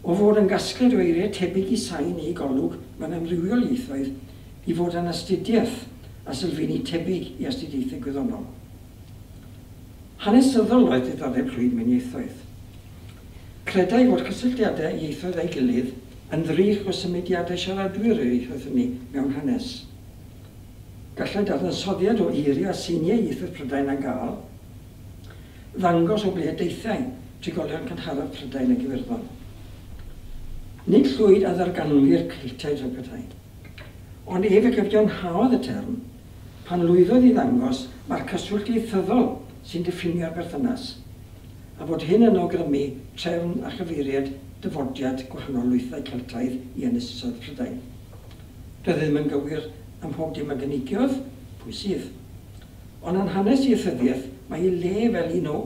o fod yn gasgliad o eiriau tebyg i sain neu golwg mewn amrywiol ieithoedd i fod yn astudiaeth a sylfeini tebyg i astudiaethau gwyddonol. Hanesyddol oedd diddordeb Llwyd mewn ieithoedd. Credai fod cysylltiadau ieithoedd â'i gilydd yn ddrych o symudiadau siaradwyr yr ieithoedd hynny mewn hanes. Gallai dadansoddiad o eiriau a seiniau ieithoedd Prydain a Gâl ddangos o ble deithiau trigolion cynharaf Prydain ac Iwerddon. Nid Llwyd a ddarganfu'r Celtiaid fel petai, ond ef y cyfiawnhaodd y term pan lwyddodd i ddangos mae'r cyswllt ieithyddol sy'n diffinio'r berthynas, a bod hyn yn awgrymu trefn a chyfeiriad dyfodiad gwahanol lwythau Celtaidd i ynysoedd Prydain. Doedd ddim yn gywir ym mhob dim a gynigiodd, pwy sydd. Ond yn hanes ieithyddiaeth, mae ei le fel un o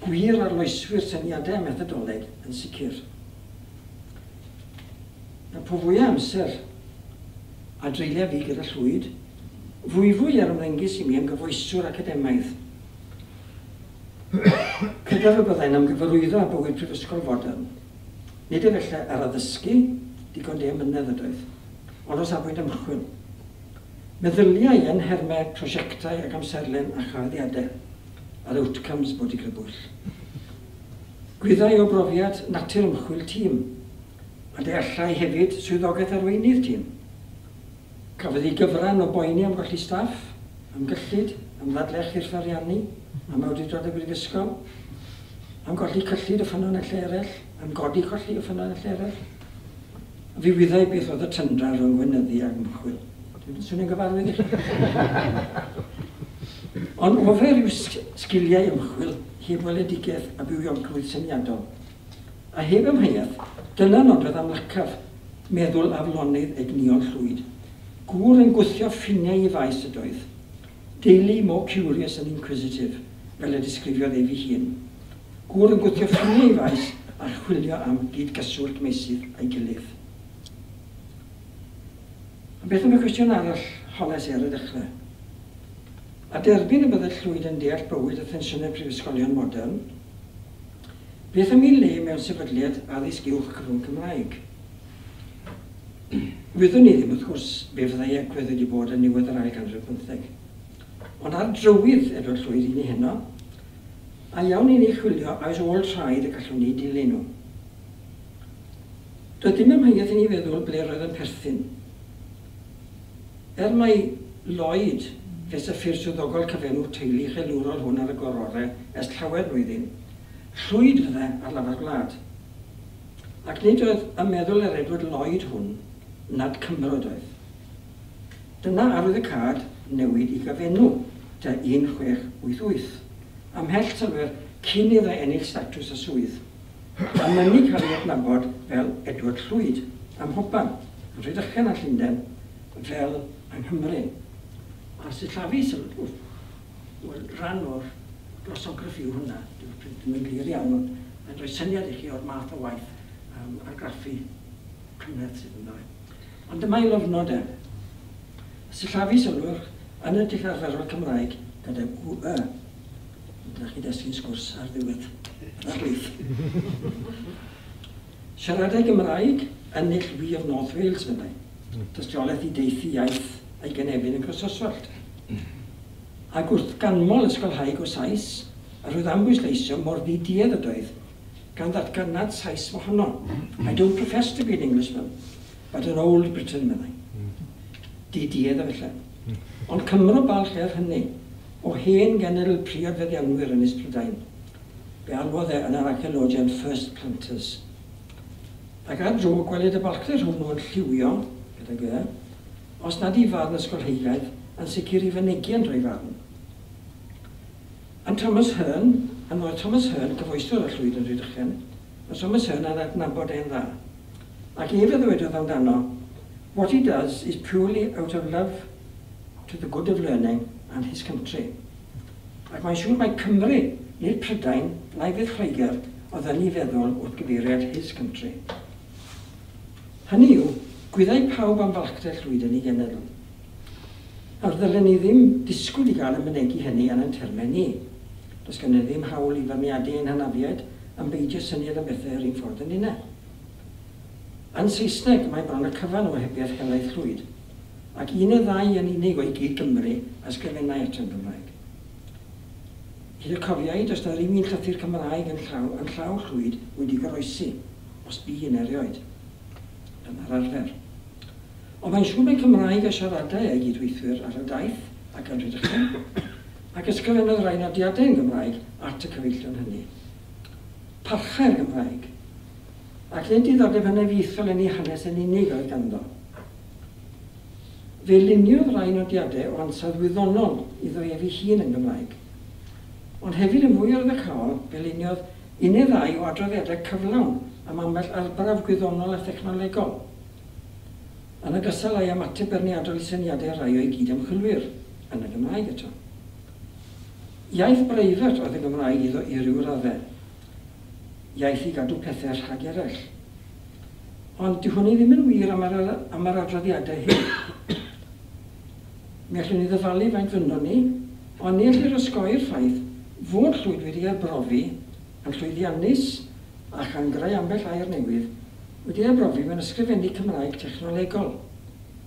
gwir arloeswyr syniadau a methodoleg yn sicr. Na po fwyaf amser a dreuliau fi gyda Llwyd, fwyfwy ar ymddengys i mi yn gyfoeswr academaidd. Credaf y byddai'n ymgyfarwyddo â bywyd prifysgol fodern. Nid efallai ar addysgu, digon di amynedd ydoedd, ond o safbwynt ymchwil. Meddyliau yn nhermau prosiectau ac amserlen a chyhoeddiadau, a'r outcomes bod i grybwyll. Gwyddai o brofiad natur ymchwil tîm, a deallai hefyd swyddogaeth arweinydd tîm. Cafodd ei gyfran o boeni am golli staff, am gyllid, am ddadlech i'r ariannu, am awdurdod y brifysgol, am golli cyllid o ffynonellau eraill, am godi colli o ffynonellau eraill. A fi wyddai beth oedd y tyndra rhwng gweinyddu ac ymchwil. Dwi'n swnio'n gyfarwydd i chi. Ond ofer yw sgiliau ymchwil heb weledigaeth a bywiogrwydd syniadol. A heb amheuaeth, dyna nodwedd amlycaf meddwl aflonydd egnïol Llwyd. Gŵr yn gwthio ffiniau i faes ydoedd. Daily more curious and inquisitive, fel y disgrifiodd ef ei hun. Gŵr yn gwthio ffiniau i faes a chwilio am gyd-gyswllt meysydd a'i gilydd. A beth am y cwestiwn arall holes i ar y dechrau? A derbyn y byddai Llwyd yn deall bywyd a thensiynau prifysgolion modern, beth am ei le mewn sefydliad addysg uwch cyfrwng Cymraeg? Wyddwn ni ddim, wrth gwrs, be fyddai agwedd wedi bod yn niwedd yr ail ganrif bymtheg. Ond ar drywydd Edward Llwyd i ni heno, a iawn i ni chwilio a oes ôl traed y gallwn ni dilyn nhw. Doedd dim amheuaeth i ni feddwl ble roedd yn perthyn. Er mai Lloyd fes y ffurf swyddogol cyfenw teulu chelwrol hwn ar y gororau ers llawer blwyddyn, Llwyd fydde ar lafar gwlad. Ac nid oedd y meddwl yr Edward Lloyd hwn nad Cymro oedd. Dyna arwyddocâd newid i gyfenw tua un chwech wyth wyth, ymhell sylwer cyn iddo ennill statws a swydd, a mynnu cael ei adnabod fel Edward Llwyd ym mhobman, yn Rhydychen a Llundain, fel yng Nghymru. A sillafu sylw, wel, rhan o'r glosography yw hwnna, dyw'r print ddim yn glir iawn, ond mae'n rhoi syniad i chi o'r math o waith um, argraffu cymhleth sydd ynddo fe. Ond dyma ei lofnod e. Sillafu sylwch yn y dull arferol Cymraeg gyda W Y. Dyna chi destun sgwrs ar ddiwedd yr arlith. Siaradau Gymraeg yn null We of North Wales, meddai. Tystiolaeth i deithi iaith a'i gynefin yn Croesoswallt. Ac wrth ganmol ysgolhaig o Sais, a roedd am bwysleisio mor ddiduedd ydoedd, gan ddatgan nad Sais mohono. I don't profess to be an Englishman, but an old Briton, meddai. Diduedd a felly. Ond Cymro balch er hynny, o hen genedl priod feddianwyr Ynys Prydain. Fe alwodd e yn yr archaeologian first planters. Ac ar dro gwelid y balchder hwnnw yn lliwio, gydag e, os nad i farn ysgolheigaidd, yn sicr i fynegiant o'i farn. Yn Thomas Hearne, yn oedd Thomas Hearne, cyfoeswr y Llwyd yn Rhydychen, oedd Thomas Hearne yn adnabod e'n dda. Ac ef a ddywedodd amdano, what he does is purely out of love to the good of learning and his country. Ac mae'n siŵr mai Cymru, nid Prydain, na'i fydd Lloegr, oedd yn ei feddwl wrth gyfeiriad his country. Hynny yw, gwyddai pawb am falchder Llwyd yn ei genedl. Nawr ddylen ni ddim disgwyl i gael y mynegi hynny yn ein termau ni. Does gennym ddim hawl i feirniadu ein hynafiaid am beidio syniad am bethau yr un ffordd yn unau. Yn Saesneg, mae bron y cyfan o ohebiaeth helaeth Llwyd, ac un neu ddau yn unig o'i gyd Gymru a ysgrifennai ato yn Gymraeg. Hyd y cofiai, does na ddim un llythyr Cymraeg yn llaw, yn llaw Llwyd wedi goroesi, os bu un erioed. Dyna'r arfer. Ond mae'n siŵr mai Cymraeg a siaradai ei gydweithwyr ar y daith ac yn Rhydychen, ac ysgrifennodd rai nodiadau yn Gymraeg at y cyfeillion hynny. Parchai'r Gymraeg, ac nid diddordeb hynafiaethol yn ei hanes yn unig oedd ganddo. Fe luniodd rai nodiadau o ansawdd wyddonol iddo ef ei hun yn Gymraeg. Ond hefyd yn fwy arwyddocaol, fe luniodd un neu ddau o adroddiadau cyflawn am ambell arbrawf gwyddonol a thechnolegol, yn ogystal â'i ymateb beirniadol i syniadau rhai o'i gyd-ymchwilwyr, yn y Gymraeg eto. Iaith breifat oedd y Gymraeg iddo i ryw raddau, iaith i gadw pethau rhag eraill. Ond dyw hynny ddim yn wir am yr, am yr adroddiadau hyn. Mi allwn ni ddyfalu faint fynnon ni, ond ni ellir osgoi'r ffaith fod Llwyd wedi arbrofi yn llwyddiannus a chan greu ambell air newydd, wedi arbrofi mewn ysgrifennu Cymraeg technolegol,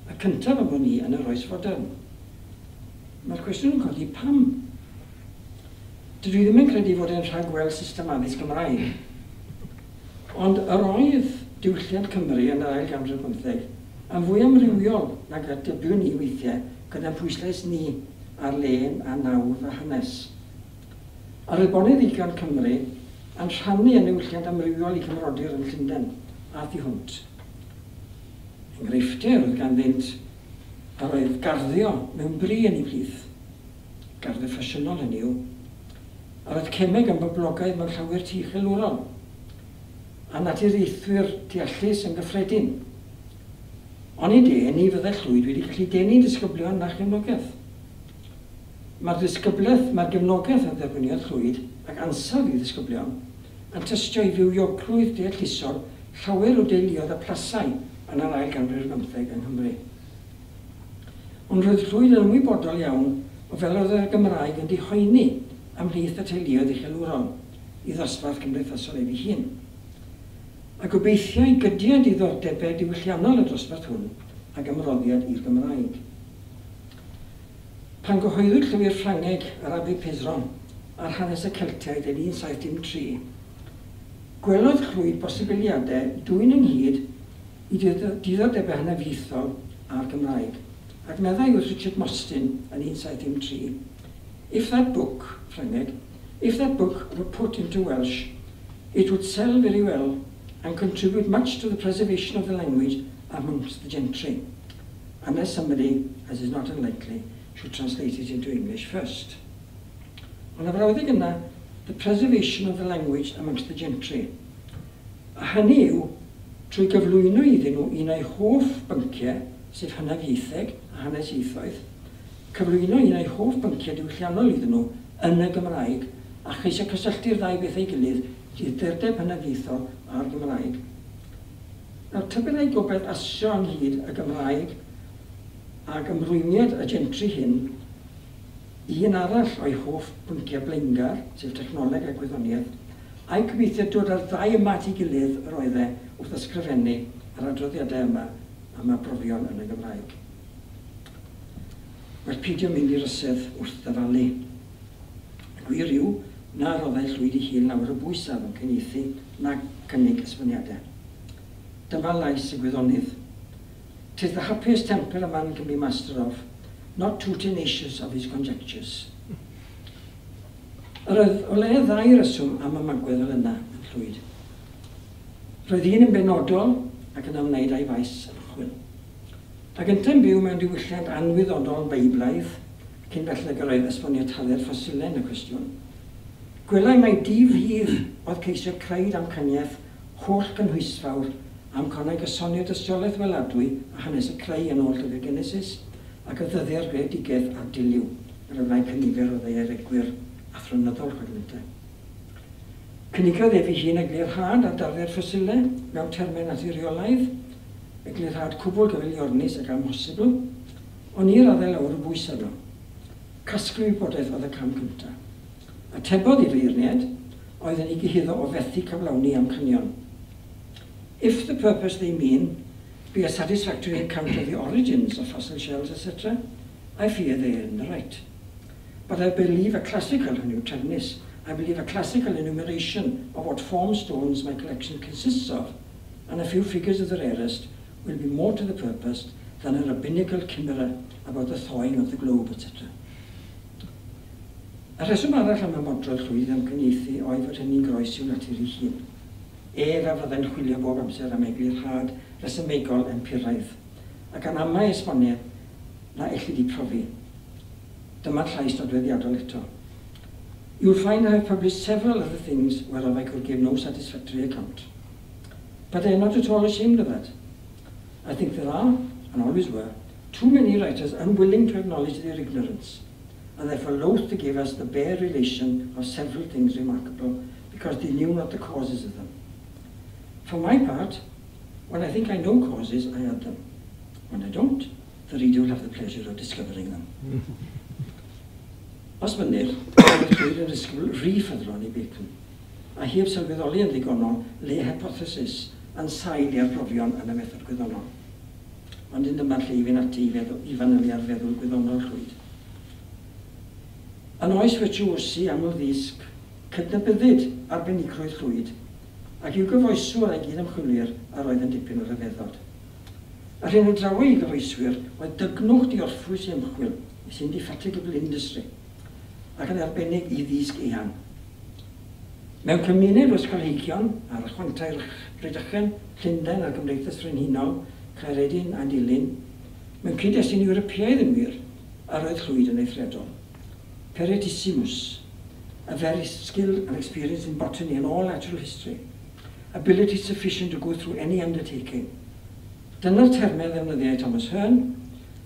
y cyntaf am wn i yn yr oes fodern. Mae'r cwestiwn yn codi pam? Dydw i ddim yn credu fod e'n rhagweld system addysg Gymraeg. Ond yr oedd diwylliant Cymru yn yr ail ganrif bymtheg yn fwy amrywiol nag y dybiwn ni weithiau gyda'n pwyslais ni ar lên a nawdd a hanes. Yr oedd boneddigion Cymru yn rhannu yn niwylliant amrywiol i cymrodyr yn Llundain a thu hwnt. Enghreifftiau oedd ganddynt yr oedd garddio mewn bri yn ei plith, garddio ffasiynol hynny yw, yr oedd cemeg yn boblogaidd mewn llawer tŷ uchelwrol, a naturiaethwyr deallus yn gyffredin. Onid e, ni fyddai Llwyd wedi gallu denu disgyblion na chefnogaeth. Mae'r ddisgyblaeth, mae'r gefnogaeth a dderbyniodd Llwyd ac ansawdd i ddisgyblion yn tystio i fywiogrwydd deallusol llawer o deuluoedd a plasau yn yr ail ganrif ar bymtheg yng Nghymru. Ond roedd Llwyd yn ymwybodol iawn o fel oedd y Gymraeg yn dihoeni ymhlith y teuluoedd uchelwrol i ddosbarth cymdeithasol ef ei hun. A gobeithiai gydiad diddordebau diwylliannol y dosbarth hwn ag ymroddiad i'r Gymraeg. Pan gyhoeddwyd llyfr Ffrangeg yr Abbé Pézeron ar hanes y Celtiaid yn un saith dim tri, gwelodd Llwyd bosibiliadau dwyn ynghyd i diddordebau hynafiaethol a'r Gymraeg, ac meddai wrth Richard Mostyn yn un saith dim tri, If that book, Ffrangeg, if that book were put into Welsh, it would sell very well and contribute much to the preservation of the language amongst the gentry, unless somebody, as is not unlikely, should translate it into English first. Ond y frawddeg yna, the preservation of the language amongst the gentry. A hynny yw, trwy gyflwyno iddyn nhw un o'i hoff bynciau, sef hynafiaetheg a hanes ieithoedd, cyflwyno un o'i hoff bynciau diwylliannol iddyn nhw yn y Gymraeg, a cheisio cysylltu'r ddau beth ei gilydd, diddordeb hynafiaethol a'r Gymraeg. Nawr, tybed ai gobaith asio ynghyd y Gymraeg ag ymrwymiad y gentry hyn, un arall o'i hoff bynciau blaengar, sef technoleg a gwyddoniaeth, a'i gobeithio dod â'r ddau yma at ei gilydd yr oedd e wrth ysgrifennu yr adroddiadau yma am arbrofion yn y Gymraeg. Well peidio mynd i'r ysedd wrth ddyfalu. Y gwir yw na roddai Llwyd ei hun lawer o bwys ar ddamcaniaethu na cynnig esboniadau. Dyma lais y gwyddonydd. Tis the happiest temper a man can be master of, not too tenacious of his conjectures. Yr oedd o leia ddau reswm am ymagwedd fel yna yn Llwyd. Roedd un yn benodol ac yn ymwneud â'i faes ymchwil. Ac yntau'n byw mewn diwylliant anwyddonol Beiblaidd, cyn belled ag yr oedd esbonio tarddiad ffosilau yn y cwestiwn, gwelai mai di-fudd oedd ceisio creu damcaniaeth holl gynhwysfawr am conau gysonio dystiolaeth weladwy a hanes y creu yn ôl llyfr Genesis, ac y ddyddiau'r greadigaeth a diliw, fel y wnaeth cynifer o ddaearegwyr athronyddol chwedlynte. Cynigiodd ef ei hun eglurhad ar darddiad ffosilau mewn termau naturiolaidd, eglurhad cwbl gyfeiliornus ac amhosibl, ond ni raddau lawer o bwys arno. Casglu wybodaeth oedd y cam cyntaf. Atebodd i feirniaid oedd yn ei gyhuddo o fethu cyflawni amcanion. If the purpose they mean be a satisfactory account of the origins of fossil shells, et cetera, I fear they are in the right. But I believe a classical, hynny yw trefnus, I believe a classical enumeration of what form stones my collection consists of, and a few figures of the rarest, will be more to the purpose than a rabbinical chimera about the thawing of the globe, et cetera. Y rheswm arall am ymodrodd Llwyd am gynieithu oedd fod hynny'n groes i'w natur ei hun. Ef a fyddai'n chwilio bob amser am eglurhad resymegol empiraidd, ac an amau esboniad na ellid ei profi. Dyma'r llais nodweddiadol eto. You will find I have published several other things whereof I could give no satisfactory account. But I am not at all ashamed of that. I think there are, and always were, too many writers unwilling to acknowledge their ignorance, and therefore loath to give us the bare relation of several things remarkable, because they knew not the causes of them. For my part, when I think I know causes, I add them. When I don't, the reader will have the pleasure of discovering them. Os mynir, roedd Llwyd yn ddisgybl rhy ffyddlon i Bacon, a heb sylweddoli yn ddigonol le hypothesis yn sail i arbrofion yn y method gwyddonol. Ond un dyma'r lle i fynd ati i, feddwl, i fanylu ar feddwl gwyddonol Llwyd. Yn oes virtuosi aml ddisg, cydnabyddid arbenigrwydd Llwyd, ac i'w gyfoeswr a'i gyd-ymchwilwyr yr oedd yn dipyn o ryfeddod. Yr hyn a drawai i gyfoeswyr oedd dygnwch diorffwys i ymchwil, his indefatigable industry, ac yn arbennig i ddysg eang. Mewn cymuned o ysgolheigion ar y chwantau Rhydychen, Llundain a'r Gymdeithas Frenhinol, Caeredin a Dulyn, mewn cyd-destun Ewropeaidd yn wir, yr oedd Llwyd yn eithriadol. Peritissimus, a very skilled and experienced in botany and all natural history, ability sufficient to go through any undertaking. Dyna'r termau ddefnyddiau Thomas Hearne,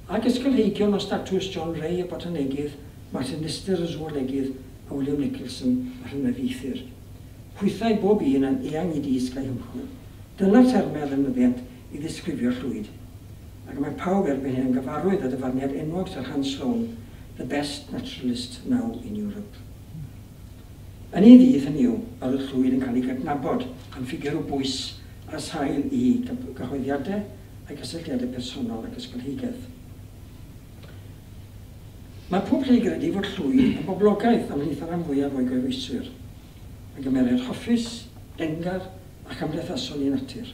ac ysgolheigion o statws John Ray y botanegydd, Martin Lister y zoolegydd a William Nicholson y rhyngweithwyr. Hwythau bob un yn eang i ddysg a'i hymchwil. Dyna'r termau ddefnyddiant i ddisgrifio Llwyd. Ac mae pawb erbyn hyn yn gyfarwydd â dyfarniad enwog Sir Hans Sloane, the best naturalist now in Europe. Yn ei ddydd hynny yw, yr oedd Llwyd yn cael ei gydnabod yn ffigur o bwys ar sail i gyhoeddiadau a'i gysylltiadau personol ac ysgolheigaeth. Mae pob lle i gredu fod Llwyd yn boblogaidd ymhlith y rhan fwyaf o'i gyfoeswyr, yn gymeriad hoffus, dengar a chymdeithasol i natur.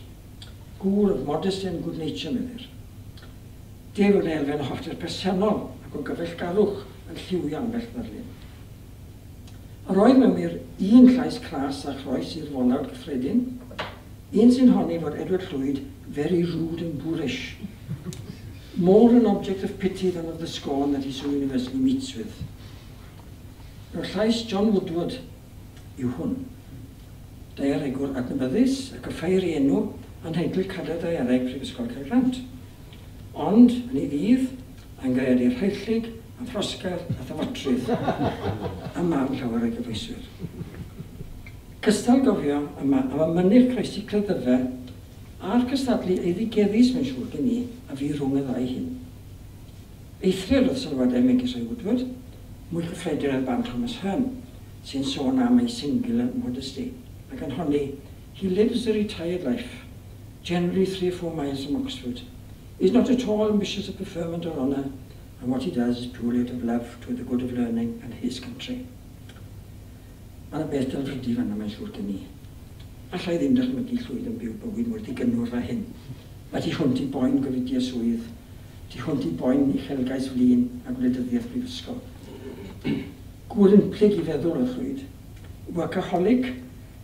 Gŵr of modesty and good nature, meddir. Deg fod elfen o hoffter personol ac o gyfeillgarwch yn lliwio ambell ddarlun. Yr oedd mewn wir un llais cras a chroes i'r folawd gyffredin, un sy'n honni fod Edward Llwyd very rude and boorish, more an object of pity than of the scorn that he so universally meets with. Nawr llais John Woodward yw hwn. Daearegwr adnabyddus ac y ffair ei enw yn nheitl Cadair Daeareg Prifysgol Caergrawnt. Ond, yn ei ddydd, yn greadur rhaellig, a throsgar a thafatrydd, a marn llawer o'i gyfoeswyr. Cystal gofio yma am y mynych croesi cleddyfe a'r cystadlu eiddigeddus mae'n siŵr gen i a fi rhwng y ddau hyn. Eithriad oedd sylwadau megis o'i Woodward, mwy cyffredin oedd barn Thomas Hearne, sy'n sôn am ei singular modesty, ac yn honni, he lives a retired life, generally three or four miles from Oxford, is not at all ambitious of preferment or honour, and what he does is purely out of love to the good of learning and his country. Mae yna beth delfrydu fan'na mae'n siŵr gen i. Alla i ddim dychmygu Llwyd yn byw bywyd mor ddigynnwrf â hyn. Mae tu hwnt i boen gofidio swydd, tu hwnt i boen uchelgais flin a gwleidyddiaeth brifysgol. Gŵr unplyg i feddwl oedd Llwyd. Workaholic,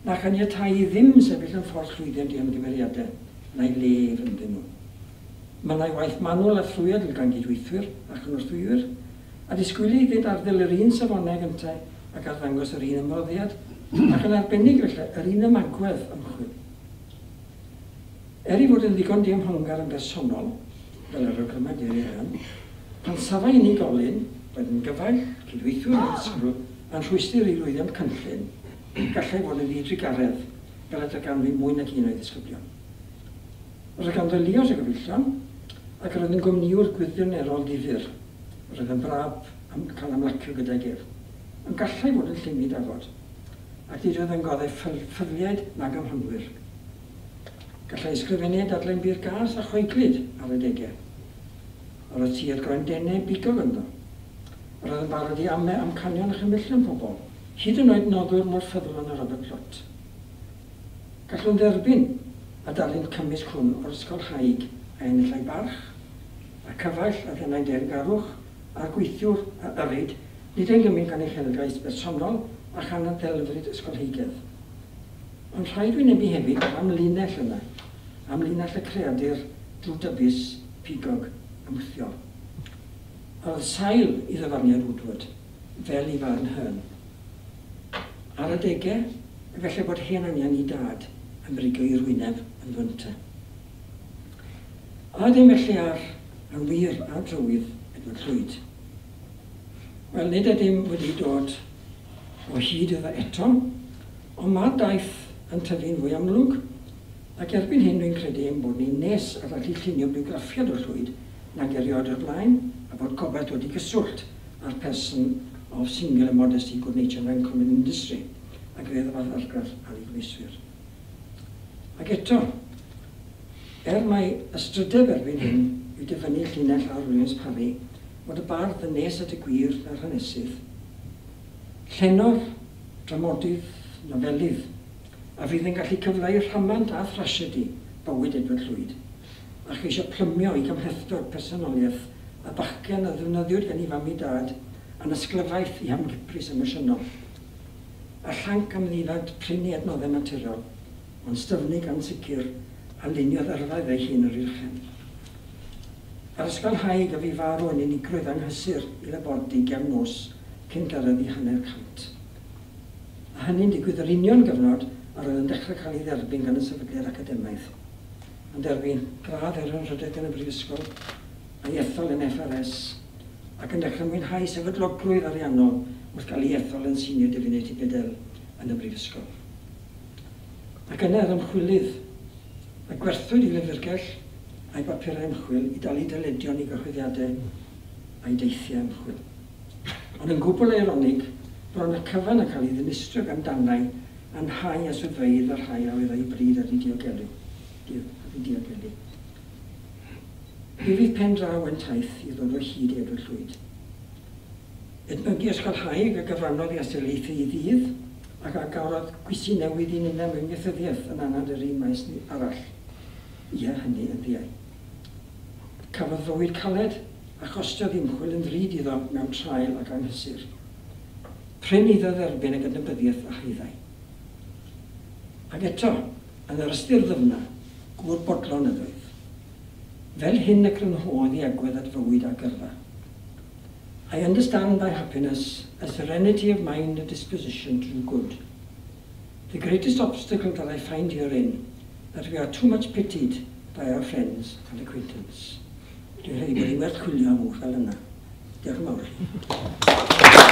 na chaniatáu i ddim sefyll yn ffordd llwyddiant i ymgymeriadau, na'i le ef ynddyn nhw. Mynnai waith manwl a thrwyadl gan gydweithwyr a chynorthwywyr, a disgwylu iddynt arddel yr un safonau gyntaf ac arddangos yr un ymroddiad, ac yn arbennig felly yr un ymagwedd ymchwil. Er ei fod yn ddigon diymhongar yn bersonol, fel yr awgryma Jerry Hearn, Pan safai unigolyn, roedd yn gyfaill, cydweithiwr neu ddisgybl, yn rhwystr i lwyddiant cynllun, gallai fod yn ddidrugaredd, fel y darganfu mwy nag un o'i ddisgyblion. Roedd ganddo liaws o gyfeillion, ac roedd yn gwmnïwr gwirioneddol ddifyr. Roedd yn braf am cael ymlacio gydag ef, ond gallai fod yn llym i dafod, ac nid oedd yn goddef ffyliaid nag amhonwyr. Gallai ysgrifennu a dadlau'n bur gas a chwaeglyd ar adegau. Yr oedd tuedd groendennau bigog ynddo. Yr oedd yn barod i ame amcanion a chymhellion pobl, hyd yn oed noddwr mor ffyddlon â Robert Plot. Gallwn dderbyn y darlun cymysg hwn o'r ysgolhaig a enillai barch, y cyfaill a ddenai deyrngarwch, a'r gweithiwr a yrrid, nid yn gymaint gan uchelgais bersonol a chan y ddelfryd ysgolheigedd. Ond rhaid wynebu hefyd yr amlinell yna, amlinell y creadur drwdybus, pigog, ymwthiol. Oedd sail i ddyfarniad Woodward, fel i farn Hearn. Ar adegau, efallai bod hen anian i dad yn brigio i'r wyneb yn fynta. A ydym felly ar yn wir ar drywydd Edward Llwyd? Wel, nid ydym wedi dod o hyd iddo eto, ond mae'r daith yn tyfu'n fwy amlwg, ac erbyn hyn dwi'n credu ein bod ni'n nes at allu llunio bywgraffiad o Llwyd nag erioed o'r blaen, a bod gobaith dod i gyswllt â'r person of singular modesty, good nature and uncommon industry, a greu y fath argraff ar ei gynhwyswyr. Ac eto, er mai ystrydeb erbyn hyn yw dyfynnu llinell ar Williams Parry, fod y bardd yn nes at y gwir na'r hanesydd. Llenor, dramodydd, nofelydd, a fydd yn gallu cyfleu rhamant a thrasiedi bywyd Edward Llwyd, a cheisio plymio i gymhlethdod personoliaeth a bachgen a ddefnyddiwyd gan ei fam i dad yn ysglyfaeth i hamgypris emosiynol, a llanc am ddifad prynu adnoddau naturiol, ond styfnig ansicr a luniodd yrfa ei hun yr uwchen. Ar ysgolhaig a fu farw yn unigrwydd anghysur i labordy gefn nos cyn gyrraedd i hanner cant. A hynny'n digwydd yr union gyfnod a roedd yn dechrau cael ei dderbyn gan y sefydliad academaidd. Yn derbyn gradd er anrhydedd gan y Brifysgol, a'i ethol yn F R S, ac yn dechrau mwynhau sefydlogrwydd ariannol wrth gael ei ethol yn Senior Divinity Bedell yn y Brifysgol. Ac yna yr ymchwilydd, a gwerthwyd i lyfrgell a'i bapurau ymchwil i dalu dyledion i gyhoeddiadau a'i deithiau ymchwil. Ond yn gwbl eironig, bron y cyfan yn cael ei ddinistrio gan danau anhau a swyddfeydd a'r rhai a oedd â'i bryd ar ei diogelu. Ar ei diogelu. Mi fydd pen draw yn taith i ddod o hyd i Edward Llwyd. Edmygu ysgolhaig a gyfrannodd i astudiaethau ei ddydd ac a garodd gwysi newydd i ninnau mewn ieithyddiaeth yn anad yr un maes arall. Ie, hynny yn ddiau. Cafodd fywyd caled a chostiodd ymchwil yn ddrud iddo mewn traul ac anghysur. Prin iddo dderbyn y gydnabyddiaeth a haeddai. Ac eto, yn yr ystyr ddyfna, gŵr bodlon ydoedd. Fel hyn y crynhodd i agwedd at fywyd a gyrfa. I understand by happiness a serenity of mind and disposition to do good. The greatest obstacle that I find herein, that we are too much pitied by our friends and acquaintance. Dwi'n credu bod hi'n werth chwilio am wch fel yna. Diolch yn fawr.